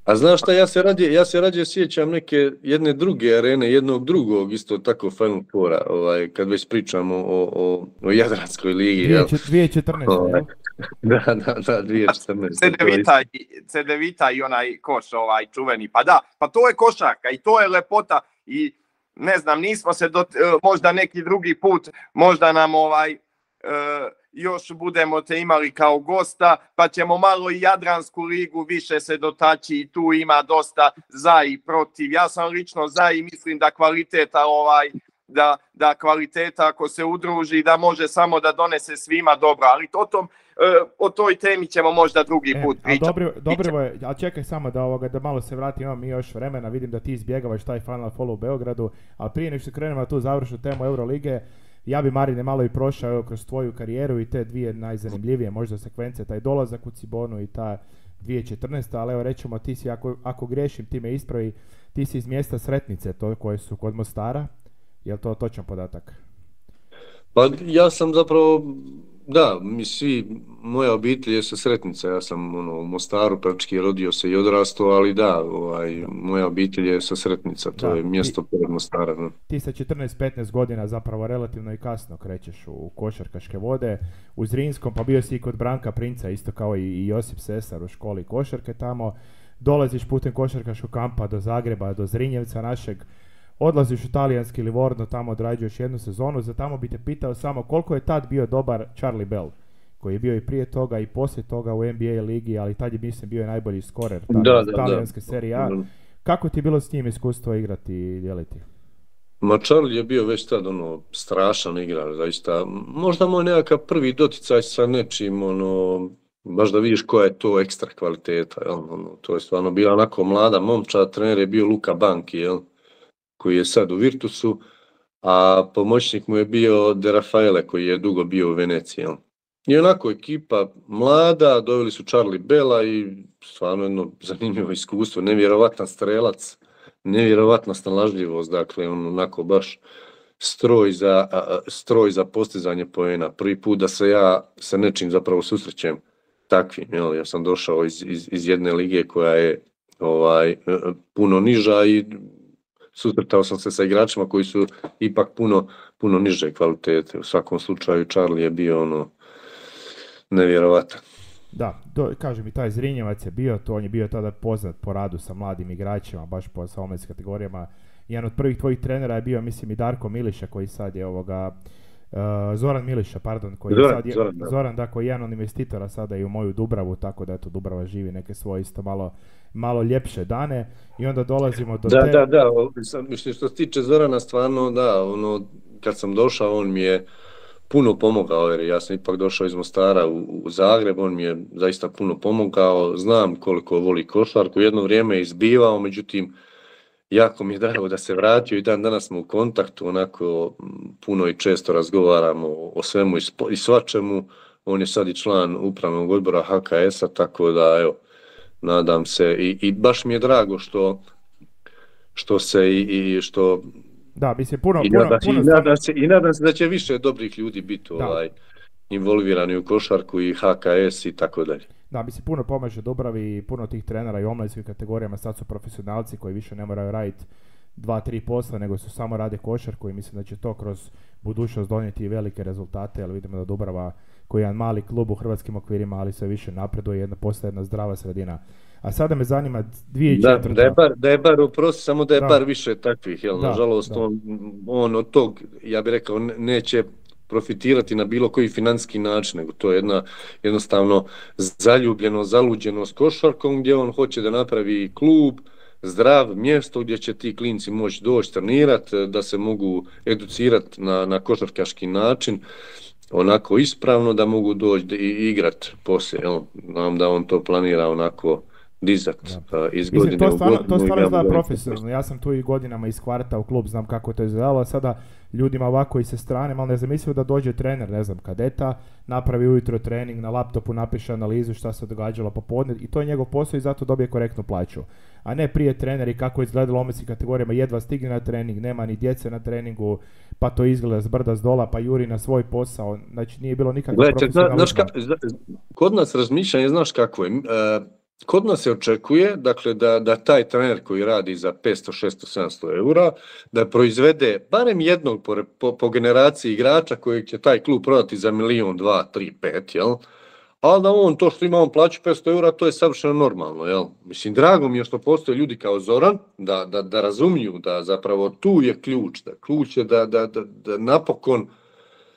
A znaš šta, ja se rađe, ja se rađe sjećam neke jedne druge arene, jednog drugog isto tako Final Fora, ovaj, kad već pričamo o, o, o Jadranskoj ligi. dvije tisuće četrnaeste Ovaj, da, da, da, dvije tisuće četrnaeste C devet i onaj koš ovaj čuveni, pa da, pa to je košarka i to je lepota i ne znam, nismo se do, možda neki drugi put, možda nam ovaj... Uh, još budemo te imali kao gosta, pa ćemo malo i Jadransku ligu više se dotaći i tu ima dosta za i protiv. Ja sam lično za i mislim da kvaliteta ovaj da, da kvaliteta ako se udruži da može samo da donese svima dobro, ali o, tom, o toj temi ćemo možda drugi put e, pričati. Dobro, dobro je, ali čekaj samo da, ovoga, da malo se vratim, imamo mi još vremena, vidim da ti izbjegavaš taj Final Four u Beogradu, ali prije nego što krenemo na tu završnu temu Eurolige, ja bi Marine malo i prošao evo, kroz tvoju karijeru i te dvije najzanimljivije možda sekvence, taj dolazak u Cibonu i ta dvije tisuće četrnaesta. Ali evo rećemo ti si, ako, ako griješim ti me ispravi, ti si iz mjesta Sretnice, to koje su kod Mostara, je li to točan podatak? Pa ja sam zapravo, da, mi svi, moja obitelj je sa Sretnica, ja sam ono, u Mostaru praktički rodio se i odrastao, ali da, ovaj, moja obitelj je sa Sretnica, to da, je mjesto pored Mostara. Ne? Ti sa četrnaest petnaest godina zapravo relativno i kasno krećeš u košarkaške vode, u Zrinskom, pa bio si i kod Branka Princa, isto kao i Josip Sesar u školi košarke tamo, dolaziš putem košarkaškog kampa do Zagreba, do Zrinjevca našeg, odlaziš u talijanski Livorno, tamo odrađuješ jednu sezonu, za tamo bi te pitao samo koliko je tad bio dobar Charlie Bell, koji je bio i prije toga i poslije toga u N B A ligi, ali tad je mislim bio i najbolji skorer da, da, talijanske da. serije A. Kako ti je bilo s njim iskustvo igrati i dijeliti? Ma Charlie je bio već tad ono strašan igrač, zaista. Možda moj nekakav prvi doticaj sa nečim, ono, baš da vidiš koja je to ekstra kvaliteta, jel? Ono, to je stvarno bila onako mlada momčad, trener je bio Luka Banki, jel? Koji je sad u Virtusu, a pomoćnik mu je bio De Rafaele, koji je dugo bio u Veneciji. Jel? I onako ekipa mlada, doveli su Charlie Bella i stvarno jedno zanimljivo iskustvo, nevjerovatan strelac, nevjerovatna snalažljivost, dakle on onako baš stroj za, stroj za postizanje poena. Prvi put da se ja sa nečim zapravo susrećem takvim, jel? Ja sam došao iz, iz, iz jedne lige koja je ovaj, puno niža i susretao sam se sa igračima koji su ipak puno, puno niže kvalitete. U svakom slučaju Charlie je bio ono nevjerovatan. Da, to, kažem i taj Zrinjevac je bio, to on je bio tada poznat po radu sa mladim igračima, baš po sa omladinskim kategorijama. Jedan od prvih tvojih trenera je bio, mislim, i Darko Miliša, koji sad je ovoga, uh, Zoran Miliša, pardon, koji Zoran, je sad je, Zoran, da. Zoran, da, koji je jedan od investitora sada i u moju Dubravu, tako da eto Dubrava živi neke svoje isto malo, malo ljepše dane i onda dolazimo do da, te... Da, da, da, mislim što se tiče Zorana, stvarno, da, ono, kad sam došao, on mi je puno pomogao, jer ja sam ipak došao iz Mostara u, u Zagreb, on mi je zaista puno pomogao, znam koliko voli košarku, jedno vrijeme je izbivao, međutim, jako mi je drago da se vratio i dan danas smo u kontaktu, onako puno i često razgovaramo o svemu i, spo, i svačemu, on je sad i član upravnog odbora H K S-a, tako da, evo, nadam se i, i baš mi je drago što, što se i, i što... Da, mislim, puno, I puno, nadam, puno i, nadam se, I nadam se da će više dobrih ljudi biti ovaj, involvirani u košarku i H K S i tako dalje. Da, mislim, puno pomaže Dubravi i puno tih trenera i u omladinskim kategorijama sad su profesionalci koji više ne moraju raditi dva, tri posla, nego su samo rade košarku i mislim da će to kroz budućnost donijeti velike rezultate, ali vidimo da Dubrava, koji je jedan mali klub u hrvatskim okvirima, ali sve više napreduje, jedna postaje jedna zdrava sredina. A sada me zanima dvije i četvrta. Da, da je bar, da je bar uprosti, samo da je da. bar više takvih, jel? Da, nažalost, da. On, on od tog, ja bih rekao, neće profitirati na bilo koji financijski način, nego to je jedna jednostavno zaljubljeno, zaluđeno s košarkom, gdje on hoće da napravi klub, zdrav mjesto gdje će ti klinci moći doći trenirati, da se mogu educirati na, na košarkaški način, onako ispravno da mogu doći i igrati poslije. Jel? Znam da on to planira onako dizakt uh, iz godine Mislim, to stvarno, u godinu. to stvarno izgleda profesionalno. Ja sam tu i godinama iz kvarta u klub, znam kako to izgledalo. Sada ljudima ovako i sa strane, malo ne zamislio da dođe trener, ne znam, kadeta, napravi ujutro trening, na laptopu napiše analizu šta se događalo popodne i to je njegov posao i zato dobije korektnu plaću. A ne prije treneri kako je izgledalo u omladinskim kategorijama, jedva stigne na trening, nema ni djece na treningu, pa to izgleda s brda s dola, pa juri na svoj posao. Znači nije bilo nikakve profesionalizma. Kod nas razmišljanje, znaš kako je, uh, kod nas se očekuje, dakle, da, da taj trener koji radi za petsto, šesto, sedamsto eura, da proizvede barem jednog po, po, po generaciji igrača kojeg će taj klub prodati za milion, dva, tri, pet, jel? Ali da on, to što ima on plaću petsto eura, to je savršeno normalno, jel? Mislim, drago mi je što postoje ljudi kao Zoran, da, da, da razumiju da zapravo tu je ključ, da ključ je da, da, da, da napokon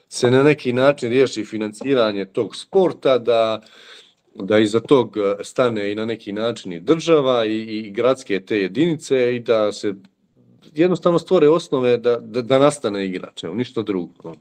se na neki način riješi financiranje tog sporta, da da iza tog stane i na neki način i država i, i gradske te jedinice i da se jednostavno stvore osnove da, da, da nastane igrač, evo, ništa drugo.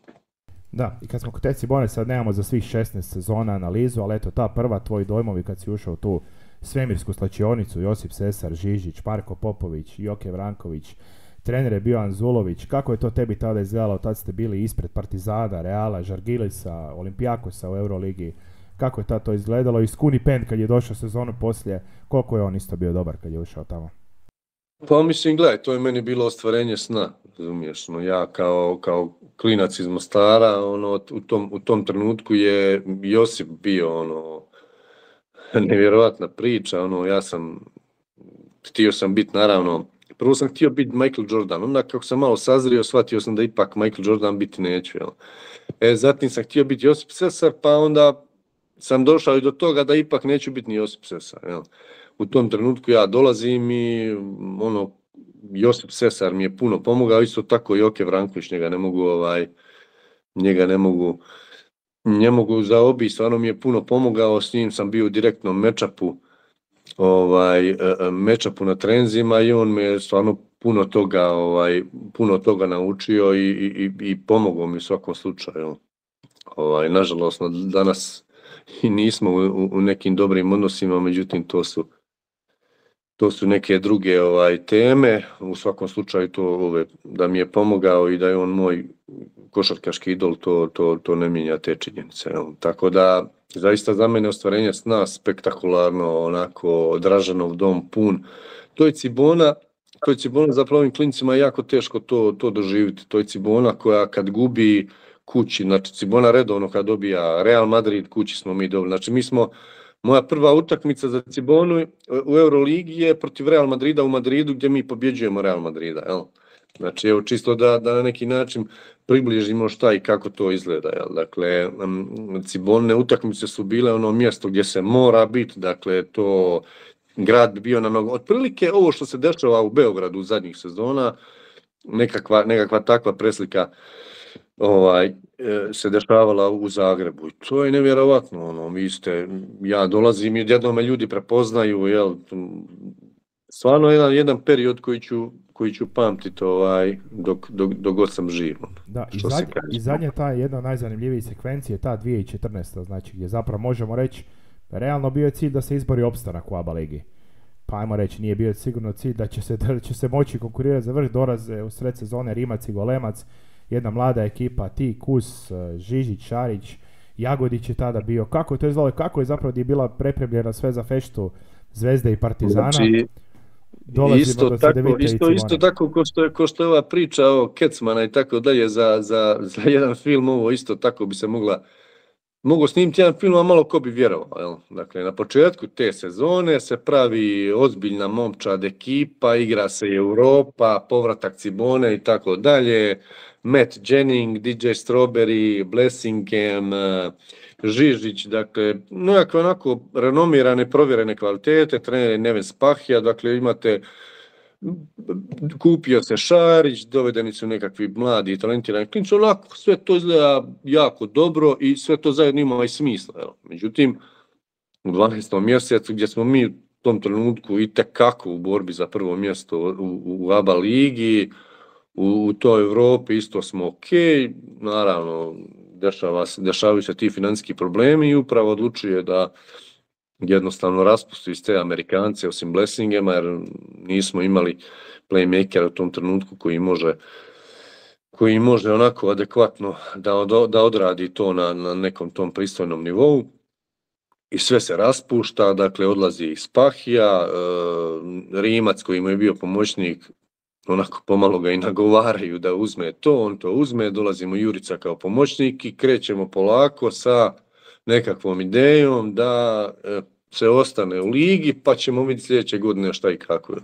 Da, i kad smo kod te Cibone, sad nemamo za svih šesnaest sezona analizu, ali eto ta prva, tvoji dojmovi kad si ušao u tu svemirsku slačionicu, Josip Sesar, Žižić, Marko Popović, Joke Vranković, trener je bio Anzulović, kako je to tebi tada izgledalo, tad ste bili ispred Partizana, Reala, Žargilisa, Olimpijakosa u Euroligi, kako je tad to izgledalo i Skuni Pen kad je došao sezonu poslije, koliko je on isto bio dobar kad je ušao tamo? Pa mislim, gledaj, to je meni bilo ostvarenje sna, razumiješ, no, ja kao, kao klinac iz Mostara, ono, u tom, u tom trenutku je Josip bio, ono, nevjerojatna priča, ono, ja sam, htio sam biti, naravno, prvo sam htio biti Michael Jordan, onda kako sam malo sazrio, shvatio sam da ipak Michael Jordan biti neću, jel? E, zatim sam htio biti Josip Sesar, pa onda sam došao i do toga da ipak neću biti ni Josip Sesar, jel? U tom trenutku ja dolazim i ono, Josip Sesar mi je puno pomogao, isto tako i Joke Vranković, njega ne mogu, ovaj, njega ne mogu, ne mogu zaobići, stvarno mi je puno pomogao, s njim sam bio u direktnom mečapu, ovaj, mečapu na trenzima i on me stvarno puno toga, ovaj, puno toga naučio i, i, i pomogao mi u svakom slučaju. Ovaj, nažalost, danas i nismo u, u nekim dobrim odnosima, međutim to su to su neke druge ovaj teme. U svakom slučaju to ove, da mi je pomogao i da je on moj košarkaški idol, to, to, to ne mijenja te činjenice. Jel? Tako da zaista za mene ostvarenje sna spektakularno, onako Dražanov dom pun. To je Cibona, to je Cibona zapravo ovim klincima je jako teško to, to doživjeti. To je Cibona koja kad gubi kući, znači Cibona redovno kad dobija Real Madrid, kući smo mi dobili. Znači mi smo, moja prva utakmica za Cibonu u Euroligi je protiv Real Madrida u Madridu gdje mi pobjeđujemo Real Madrida, jel? Znači evo čisto da, da na neki način približimo šta i kako to izgleda, jel? Dakle, Cibonine utakmice su bile ono mjesto gdje se mora biti, dakle to grad bi bio na nogu. Otprilike ovo što se dešava u Beogradu u zadnjih sezona, nekakva, nekakva takva preslika ovaj, se dešavala u Zagrebu. I to je nevjerovatno, ono, vi ste, ja dolazim i odjednom me ljudi prepoznaju, jel, stvarno jedan, jedan period koji ću, koji ću pamtiti ovaj, dok, dok, dok god sam živ. Da, i, zadnje, i zadnja ta jedna od najzanimljivijih sekvencije, ta dvije tisuće četrnaesta, znači gdje zapravo možemo reći, realno bio je cilj da se izbori opstanak u A B A ligi. Pa ajmo reći, nije bio sigurno cilj da će se, da će se moći konkurirati za vrh, dolaze u sred sezone Rimac i Golemac, jedna mlada ekipa, ti, Kus, Žižić, Šarić, Jagodić je tada bio. Kako je to izgledalo? Kako je zapravo je bila prepremljena sve za feštu Zvezde i Partizana? Znači, isto, do tako, isto, isto tako ko što, je, ko što je ova priča o Kecmana i tako dalje za, za, za jedan film, ovo isto tako bi se mogla mogu snimiti jedan film, a malo ko bi vjerovao. Jel? Dakle, na početku te sezone se pravi ozbiljna momčad ekipa, igra se Europa, povratak Cibone i tako dalje. Matt Jennings, D J Strawberry, Blessingham, Žižić, dakle, nekakve onako renomirane, provjerene kvalitete, trener Neven Spahija, dakle, imate, kupio se Šarić, dovedeni su nekakvi mladi i talentirani klinci, onako, sve to izgleda jako dobro i sve to zajedno ima i smisla. Jel? Međutim, u dvanaestom mjesecu gdje smo mi u tom trenutku i tekako u borbi za prvo mjesto u, u A B A ligi, u, u toj Europi isto smo ok, naravno dešava se, dešavaju se ti financijski problemi i upravo odlučuje da jednostavno raspusti iz te Amerikance osim Blessingema jer nismo imali playmakera u tom trenutku koji može koji može onako adekvatno da, od, da odradi to na, na nekom tom pristojnom nivou i sve se raspušta, dakle odlazi iz Spahija, e, Rimac koji mu je bio pomoćnik onako pomalo ga i nagovaraju da uzme to, on to uzme, dolazimo Jurica kao pomoćnik i krećemo polako sa nekakvom idejom da e, se ostane u ligi pa ćemo vidjeti sljedeće godine šta i kako. Jel.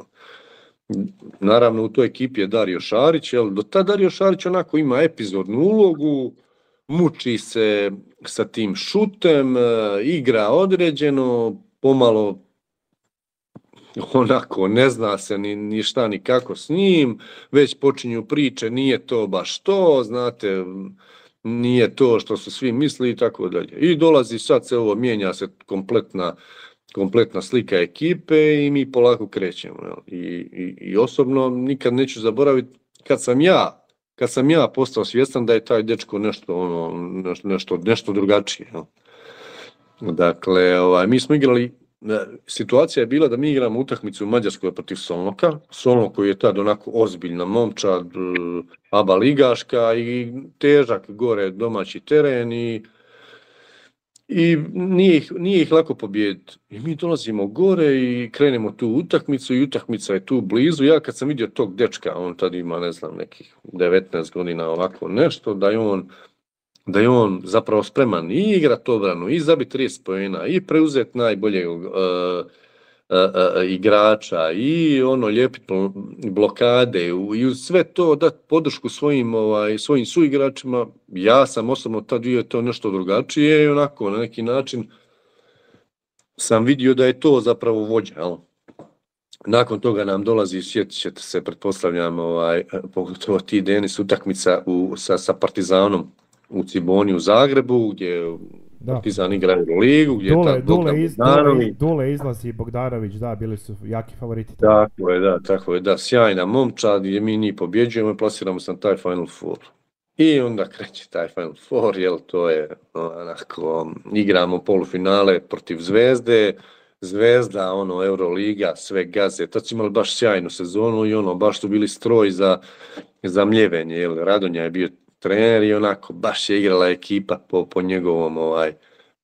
Naravno u toj ekipi je Dario Šarić, jel, do tada Dario Šarić onako ima epizodnu ulogu, muči se sa tim šutem, e, igra određeno, pomalo onako ne zna se ni, ni šta ni kako s njim, već počinju priče, nije to baš to, znate, nije to što su svi misli i tako dalje. I dolazi sad se ovo, mijenja se kompletna kompletna slika ekipe i mi polako krećemo. Jel? I, i, I osobno nikad neću zaboraviti kad sam ja, kad sam ja postao svjestan da je taj dečko nešto, ono, nešto, nešto drugačije. Jel? Dakle, ovaj, mi smo igrali, situacija je bila da mi igramo utakmicu u Mađarskoj protiv Solnoka, Solnok koji je tad onako ozbiljna momčad, aba ligaška i težak gore domaći teren i I nije ih, nije ih lako pobijediti. I mi dolazimo gore i krenemo tu utakmicu i utakmica je tu blizu. Ja kad sam vidio tog dečka, on tad ima, ne znam, nekih devetnaest godina ovako nešto, da je on, da je on zapravo spreman i igrat obranu, i zabiti trideset poena, i preuzeti najboljeg uh, uh, uh, igrača, i ono lijepiti blokade, i uz sve to dati podršku svojim, ovaj, svojim suigračima. Ja sam osobno tad vidio to nešto drugačije i onako na neki način sam vidio da je to zapravo vođa. Jel? Nakon toga nam dolazi, sjetit ćete se, pretpostavljam, ovaj, pogotovo ti Denis, utakmica u, sa, sa Partizanom u Ciboni u Zagrebu, gdje da. Partizan igra u ligu, gdje Dule, je tad Bogdan iz, Bogdanović. Dule, Dule izlazi i Bogdanović, da, bili su jaki favoriti. Tako je, da, tako je, da, sjajna momčad, gdje mi njih pobjeđujemo i plasiramo se na taj Final Four. I onda kreće taj Final Four, jel, to je onako, igramo polufinale protiv Zvezde, Zvezda, ono, Euroliga, sve gaze, tad su imali baš sjajnu sezonu i ono, baš su bili stroj za, za mljevenje, jel, Radonja je bio trener i onako, baš je igrala ekipa po, po njegovom, ovaj,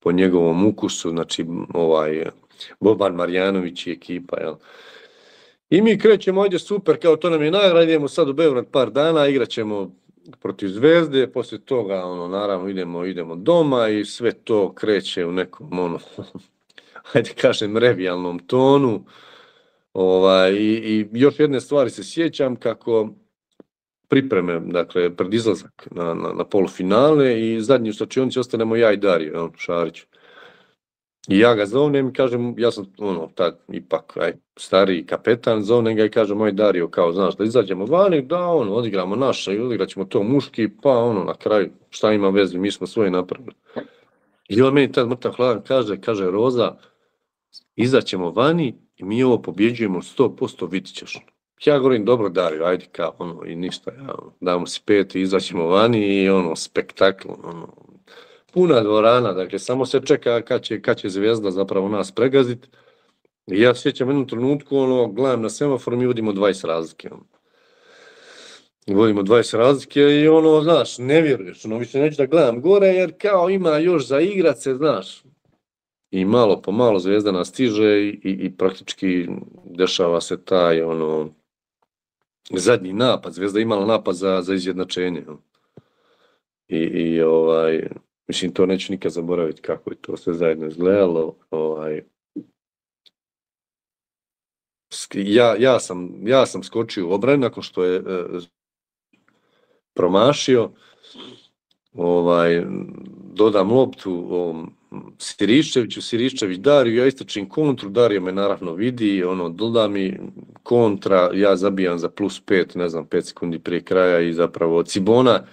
po njegovom ukusu, znači, ovaj, Boban Marjanović i ekipa, jel. I mi krećemo, ajde super, kao to nam je nagrada, idemo sad u Beograd par dana, igrat ćemo protiv Zvezde, poslije toga, ono, naravno, idemo, idemo doma i sve to kreće u nekom, ono, ajde kažem, revijalnom tonu. Ovaj, i, i još jedne stvari se sjećam kako pripreme, dakle, pred izlazak na, na, na polufinale i zadnji u slačionici ostanemo ja i Dario, on, Šarić. I ja ga zovnem i kažem, ja sam, ono, tad ipak, aj, stariji kapetan, zovnem ga i kažem, moj Dario, kao, znaš, da izađemo vani, da, ono, odigramo naše i odigrat ćemo to muški, pa, ono, na kraju, šta ima veze, mi smo svoje napravili. I on meni tad mrtav hladan kaže, kaže, Roza, izaćemo vani i mi ovo pobjeđujemo sto posto, vidit ćeš. Ja govorim, dobro Dario, ajde kao, ono, i ništa, ja, damo si pet i izaćemo vani i ono, spektakl, ono, puna dvorana, dakle, samo se čeka kad će, kad će Zvezda zapravo nas pregaziti. I ja sjećam jednom trenutku, ono, gledam na semafor, mi vodimo dvadeset razlike, ono. Vodimo dvadeset razlike i ono, znaš, ne vjeruješ, ono, više neću da gledam gore, jer kao ima još za igrat se, znaš. I malo po malo Zvezda nas stiže i, i, i praktički dešava se taj, ono, zadnji napad. Zvezda imala napad za, za izjednačenje. I, i ovaj, mislim, to neću nikad zaboraviti kako je to sve zajedno izgledalo. Ovaj, ja, ja, sam, ja sam skočio u obranu nakon što je e, promašio. Ovaj, dodam loptu ovom Siriščeviću, Siriščević Dariju, ja istračim kontru, Dario me naravno vidi, ono, doda mi kontra, ja zabijam za plus pet, ne znam, pet sekundi prije kraja i zapravo Cibona,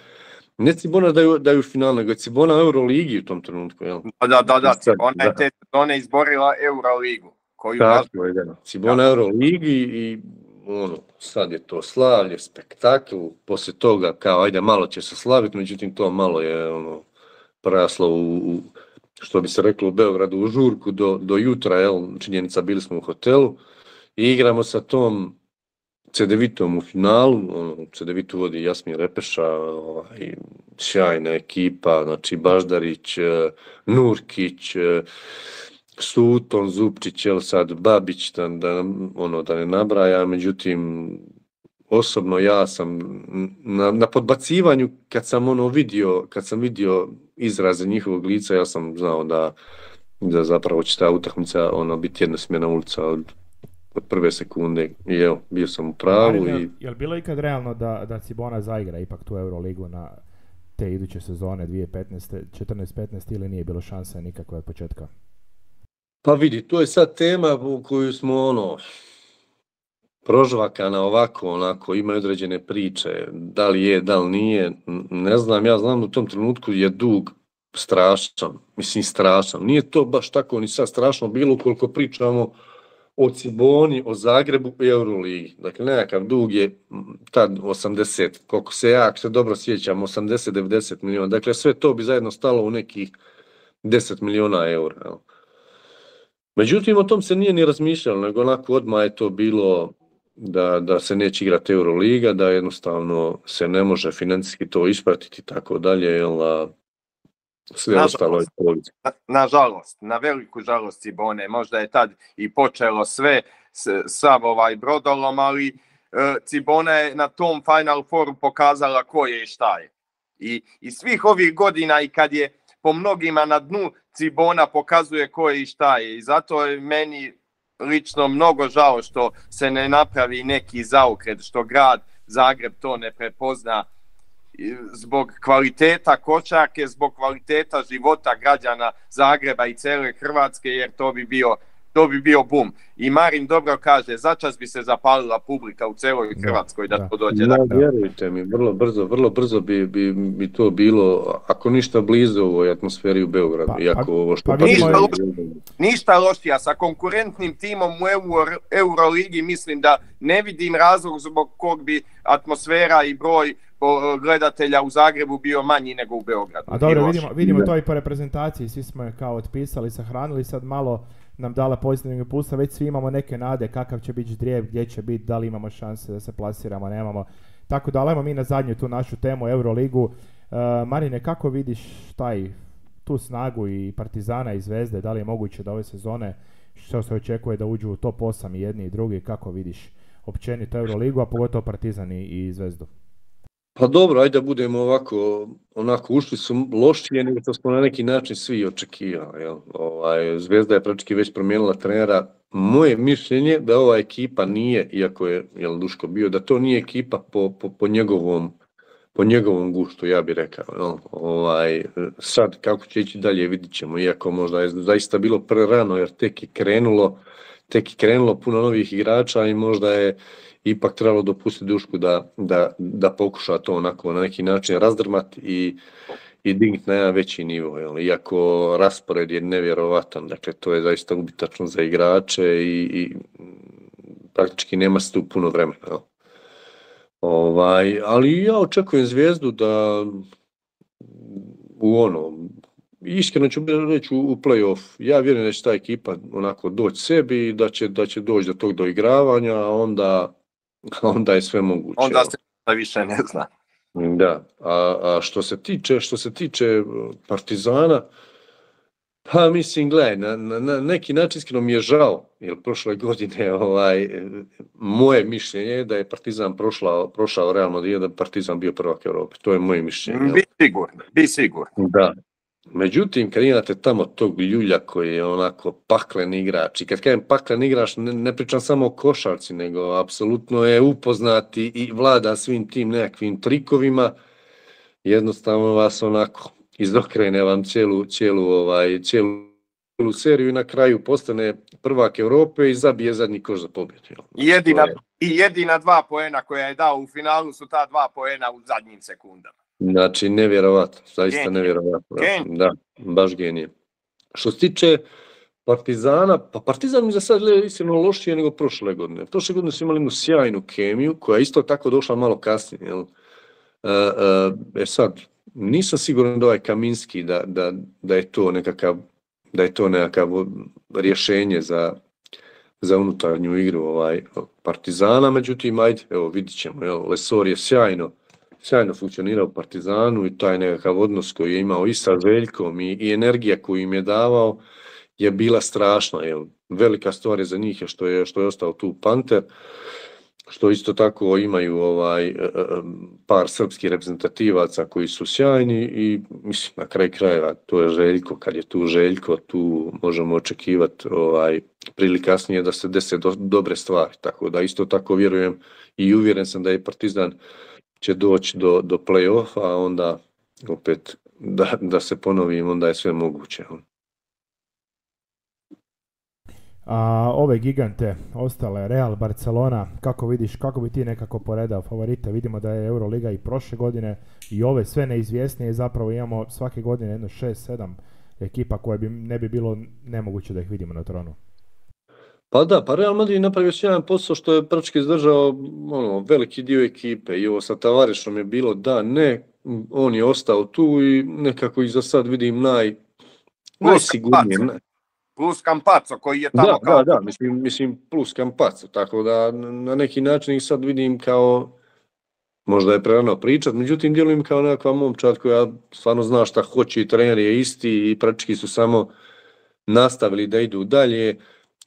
ne Cibona da je, da je u finalu, nego je Cibona u Euroligi u tom trenutku, jel? Da, da, da, Cibona je te sezone izborila Euroligu. Koju tako je, da. Cibona Euroligi i ono, sad je to slavlje, spektakl, poslije toga kao, ajde, malo će se slaviti, međutim to malo je, ono, praslo u, u što bi se reklo u Beogradu, u žurku do, do jutra, jel, činjenica, bili smo u hotelu i igramo sa tom Cedevitom u finalu, ono, Cedevitu vodi Jasmin Repeša, ovaj, sjajna ekipa, znači Baždarić, Nurkić, Suton, Zupčić, jel sad Babić, da, da, ono, da ne nabraja, međutim, osobno ja sam na, na podbacivanju, kad sam ono vidio, kad sam vidio izraze njihovog lica, ja sam znao da, da zapravo će ta utakmica ono, biti jednosmjerna ulica od, od prve sekunde i evo, bio sam u pravu. Marine, i... je li bilo ikad realno da, da Cibona zaigra ipak tu Euroligu na te iduće sezone dvije tisuće petnaeste, četrnaeste petnaeste ili nije bilo šanse nikakve od početka? Pa vidi, to je sad tema u koju smo ono prožvakana ovako, onako, imaju određene priče, da li je, da li nije, ne znam, ja znam u tom trenutku je dug strašan, mislim strašan. Nije to baš tako ni sad strašno bilo koliko pričamo o Ciboni, o Zagrebu i Euroligi. Dakle, nekakav dug je tad osamdeset, koliko se ja se dobro sjećam, osamdeset do devedeset milijuna. Dakle, sve to bi zajedno stalo u nekih deset milijuna eura. Jel? Međutim, o tom se nije ni razmišljalo, nego onako odmah je to bilo da, da se neće igrati Euroliga, da jednostavno se ne može financijski to ispratiti i tako dalje, jel, a sve Nažalost, ostalo je policija. na, nažalost, na veliku žalost Cibone, možda je tad i počelo sve, s, sav ovaj brodolom, ali e, Cibona je na tom Final Fouru pokazala ko je i šta je. I, I svih ovih godina i kad je po mnogima na dnu, Cibona pokazuje ko je i šta je. I zato je meni lično mnogo žao što se ne napravi neki zaokret, što grad Zagreb to ne prepozna zbog kvaliteta košarke, zbog kvaliteta života građana Zagreba i cele Hrvatske, jer to bi bio to bi bio bum. I Marin dobro kaže, začas bi se zapalila publika u celoj Hrvatskoj da, da to dođe. Da, da, vjerujte mi, vrlo brzo, vrlo brzo bi, bi, bi to bilo, ako ništa blizu ovoj atmosferi u Beogradu. Pa, iako ovo što pa, pa ništa, loši, ništa lošija, sa konkurentnim timom u Euro, Euroligi mislim da ne vidim razlog zbog kog bi atmosfera i broj gledatelja u Zagrebu bio manji nego u Beogradu. A dobro, vidimo, vidimo to i po reprezentaciji, svi smo je kao otpisali, sahranili, sad malo nam dala pozitivnog impulsa, već svi imamo neke nade kakav će biti ždrijeb, gdje će biti, da li imamo šanse da se plasiramo, nemamo. Tako da ajmo mi na zadnju tu našu temu Euroligu. Uh, Marine, kako vidiš taj, tu snagu i Partizana i Zvezde, da li je moguće da ove sezone što se očekuje da uđu u top osam i jedni i drugi, kako vidiš općenito Euroligu, a pogotovo Partizan i, i Zvezdu? Pa dobro, ajde da budemo ovako, onako ušli su lošije nego što smo na neki način svi očekivali. Jel? Ovaj, Zvezda je praktički već promijenila trenera. Moje mišljenje da ova ekipa nije, iako je jel, Duško bio, da to nije ekipa po, po, po, njegovom, po njegovom guštu, ja bih rekao. Jel? Ovaj, sad kako će ići dalje vidit ćemo, iako možda je zaista bilo prerano jer tek je krenulo, tek je krenulo puno novih igrača i možda je ipak trebalo dopustiti Dušku da, da, da pokuša to onako na neki način razdrmati i, i dignuti na jedan veći nivo. Jel? Iako raspored je nevjerovatan, dakle to je zaista ubitačno za igrače i, i praktički nema se tu puno vremena. Jel? Ovaj, ali ja očekujem Zvijezdu da u ono, iskreno ću reći u, u play-off, ja vjerujem da će ta ekipa onako doći sebi i da će, da će doći do tog doigravanja, a onda onda je sve moguće. Onda se više ne zna. Da, a, a što se tiče, što se tiče Partizana, pa mislim, gledaj, na, na, na neki način iskreno mi je žao, jer prošle godine ovaj, moje mišljenje je da je Partizan prošla, prošao Real Madrid, da je Partizan bio prvak Europe. To je moje mišljenje. Bi sigurno, bi sigurno. Da. Međutim, kad imate tamo tog ljulja koji je onako paklen igrač, i kad kažem paklen igrač, ne, ne pričam samo o košarci, nego apsolutno je upoznat i vlada svim tim nekakvim trikovima, jednostavno vas onako izokrene vam cijelu, cijelu, ovaj, cijelu seriju i na kraju postane prvak Europe i zabije zadnji koš za pobjedu. I jedina, je... I jedina dva poena koja je dao u finalu su ta dva poena u zadnjim sekundama. Znači, nevjerovatno, zaista genije. nevjerovatno. Genije. Da, baš genije. Što se tiče Partizana, pa Partizan mi za sad gleda iskreno lošije nego prošle godine. Prošle godine su imali jednu sjajnu kemiju, koja je isto tako došla malo kasnije. Jel? E, e sad, nisam siguran da ovaj Kaminski, da, da, da je to nekakav, da je to nekakav rješenje za, za unutarnju igru ovaj, Partizana, međutim, ajde, evo, vidit ćemo, jel? Lesor je sjajno, sjajno funkcionirao u Partizanu i taj nekakav odnos koji je imao i sa Veljkom i, i energija koju im je davao je bila strašna. Jel? Velika stvar je za njih je što je, što je ostao tu Panter, što isto tako imaju ovaj, par srpskih reprezentativaca koji su sjajni i mislim na kraj krajeva to je Željko, kad je tu Željko tu možemo očekivati ovaj, prili kasnije da se dese do, dobre stvari, tako da isto tako vjerujem i uvjeren sam da je Partizan će doći do, do play-offa, a onda opet da, da se ponovim, onda je sve moguće. A ove gigante, ostale, Real, Barcelona, kako vidiš, kako bi ti nekako poredao favorite? Vidimo da je Euroliga i prošle godine i ove sve neizvjesnije, zapravo imamo svake godine jedno šest sedam ekipa koje bi ne bi bilo nemoguće da ih vidimo na tronu. Pa da, pa Real Madrid napravio sjajan posao što je praktički izdržao ono, veliki dio ekipe i ovo sa Tavarešom je bilo da, ne, on je ostao tu i nekako ih za sad vidim naj, najsigurnije. Ne. Plus Campazzo koji je tamo da, kao... Da, da, mislim, mislim plus Campazzo, tako da na neki način ih sad vidim kao, možda je prerano pričat, međutim djelujem kao nekakva momčad koja stvarno zna šta hoće i trener je isti i praktički su samo nastavili da idu dalje.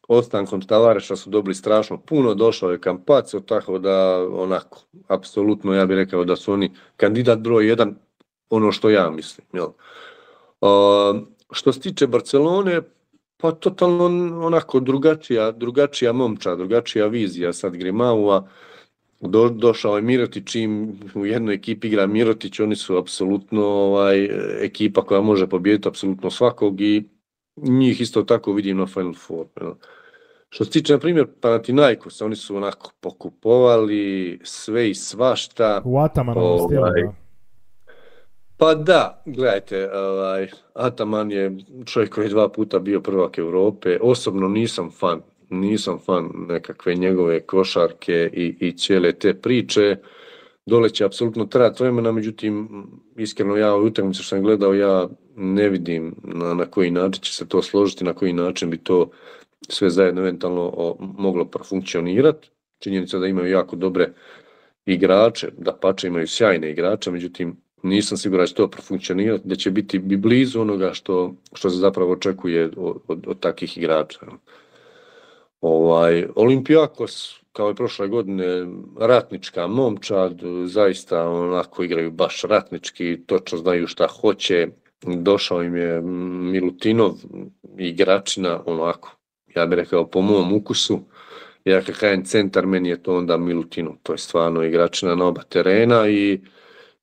Ostankom Tavareša su dobili strašno puno, došao je Campazzo, tako da onako, apsolutno ja bih rekao da su oni kandidat broj jedan, ono što ja mislim. Jel? Uh, što se tiče Barcelone, pa totalno onako drugačija, drugačija momča, drugačija vizija sad Grimaua. Do, došao je Mirotić, im u jednoj ekipi igra Mirotić, oni su apsolutno ovaj, ekipa koja može pobijediti apsolutno svakog i njih isto tako vidim na Final Four. Jel? Što se tiče, na primjer, Panathinaikos, oni su onako pokupovali sve i svašta. U Atamanovom stilu, da. Pa da, gledajte, ovaj, Ataman je čovjek koji je dva puta bio prvak Europe. Osobno nisam fan, nisam fan nekakve njegove košarke i, i cijele te priče. Dole će apsolutno trajati vremena, međutim, iskreno ja u utakmici što sam gledao, ja ne vidim na, na koji način će se to složiti, na koji način bi to sve zajedno eventualno o, moglo profunkcionirati. Činjenica da imaju jako dobre igrače, da pače imaju sjajne igrače, međutim nisam siguran da će to profunkcionirati, da će biti blizu onoga što, što se zapravo očekuje od, od, od takvih igrača. Ovaj, Olympiakos, kao i prošle godine, ratnička momčad, zaista onako igraju baš ratnički, točno znaju šta hoće. Došao im je Milutinov, igračina, onako, ja bih rekao po mom ukusu. Ja kad kažem centar, meni je to onda Milutinov, to je stvarno igračina na oba terena i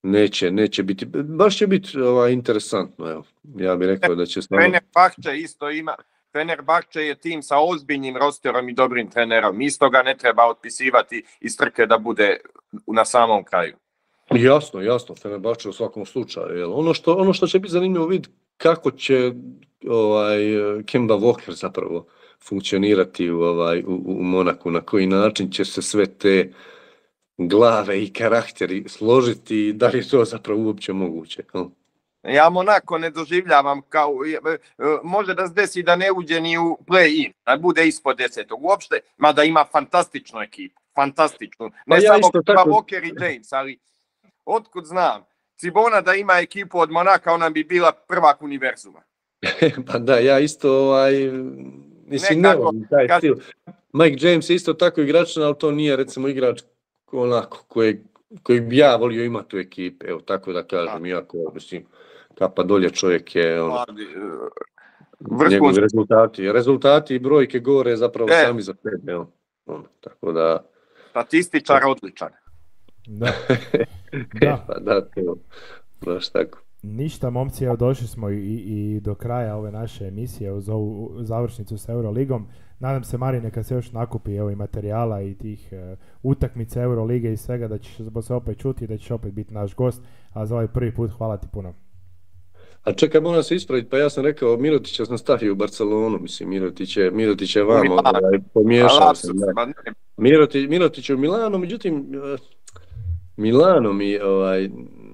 neće, neće biti, baš će biti ovaj, interesantno, evo. Ja bih rekao da će stvarno... Fenerbahče isto ima, Fenerbahče je tim sa ozbiljnim rosterom i dobrim trenerom, isto ga ne treba otpisivati iz trke da bude na samom kraju. Jasno, jasno, Fenerbahče u svakom slučaju. Jel? Ono, što, ono što će biti zanimljivo vidjeti kako će ovaj, Kemba Walker zapravo funkcionirati u, ovaj, u, u Monaku, na koji način će se sve te glave i karakteri složiti, da li je to zapravo uopće moguće. Jel? Ja Monako ne doživljavam kao, može da se desi da ne uđe ni u play-in, da bude ispod desetog uopšte, mada ima fantastičnu ekipu, fantastičnu. Ne pa ja samo tako... Walker i James, ali otkud znam, Cibona da ima ekipu od Monaka, ona bi bila prvak univerzuma. Pa da, ja isto, ovaj, mislim, ne volim taj kad... stil. Mike James je isto tako igrač, ali to nije recimo igrač onako kojeg, kojeg bi ja volio imati u ekipi, evo tako da kažem, iako, mislim, kapa dolje čovjek je, ono, njegovi rezultati, rezultati i brojke gore zapravo e. sami za sebe, ono, ono, tako da... Statističar odličan. Da. Da. Pa da, to, baš tako. Ništa, momci, evo došli smo i, i do kraja ove naše emisije uz ovu završnicu s Euroligom. Nadam se, Marine, kad se još nakupi evo, i materijala i tih uh, utakmica Eurolige i svega, da ćeš se opet čuti i da ćeš opet biti naš gost, a za ovaj prvi put hvala ti puno. A čekaj, moram se ispraviti, pa ja sam rekao Mirotića sam stavio u Barcelonu, mislim, Mirotić je, Mirotić je vamo, ovaj, pomiješao sam. Mirotić, Mirotić je u Milanu, međutim, Milano mi ovaj,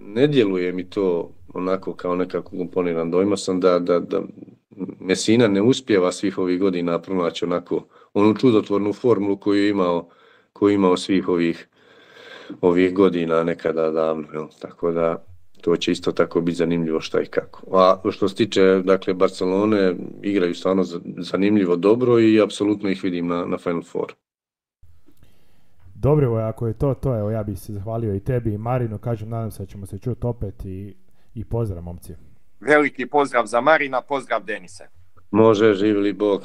ne djeluje mi to onako kao nekako komponiran. Dojma sam da, da, da Messina ne uspijeva svih ovih godina pronaći onako onu čudotvornu formulu koju je imao, koju je imao svih ovih, ovih godina nekada davno. Jel? Tako da to će isto tako biti zanimljivo šta i kako. A što se tiče dakle, Barcelone, igraju stvarno zanimljivo dobro i apsolutno ih vidim na, na Final Four. Dobro, ako je to, to evo ja bih se zahvalio i tebi i Marinu, kažem, nadam se da ćemo se čuti opet i, i pozdrav, momci. Veliki pozdrav za Marina, pozdrav Denise. Može, živjeli Bog.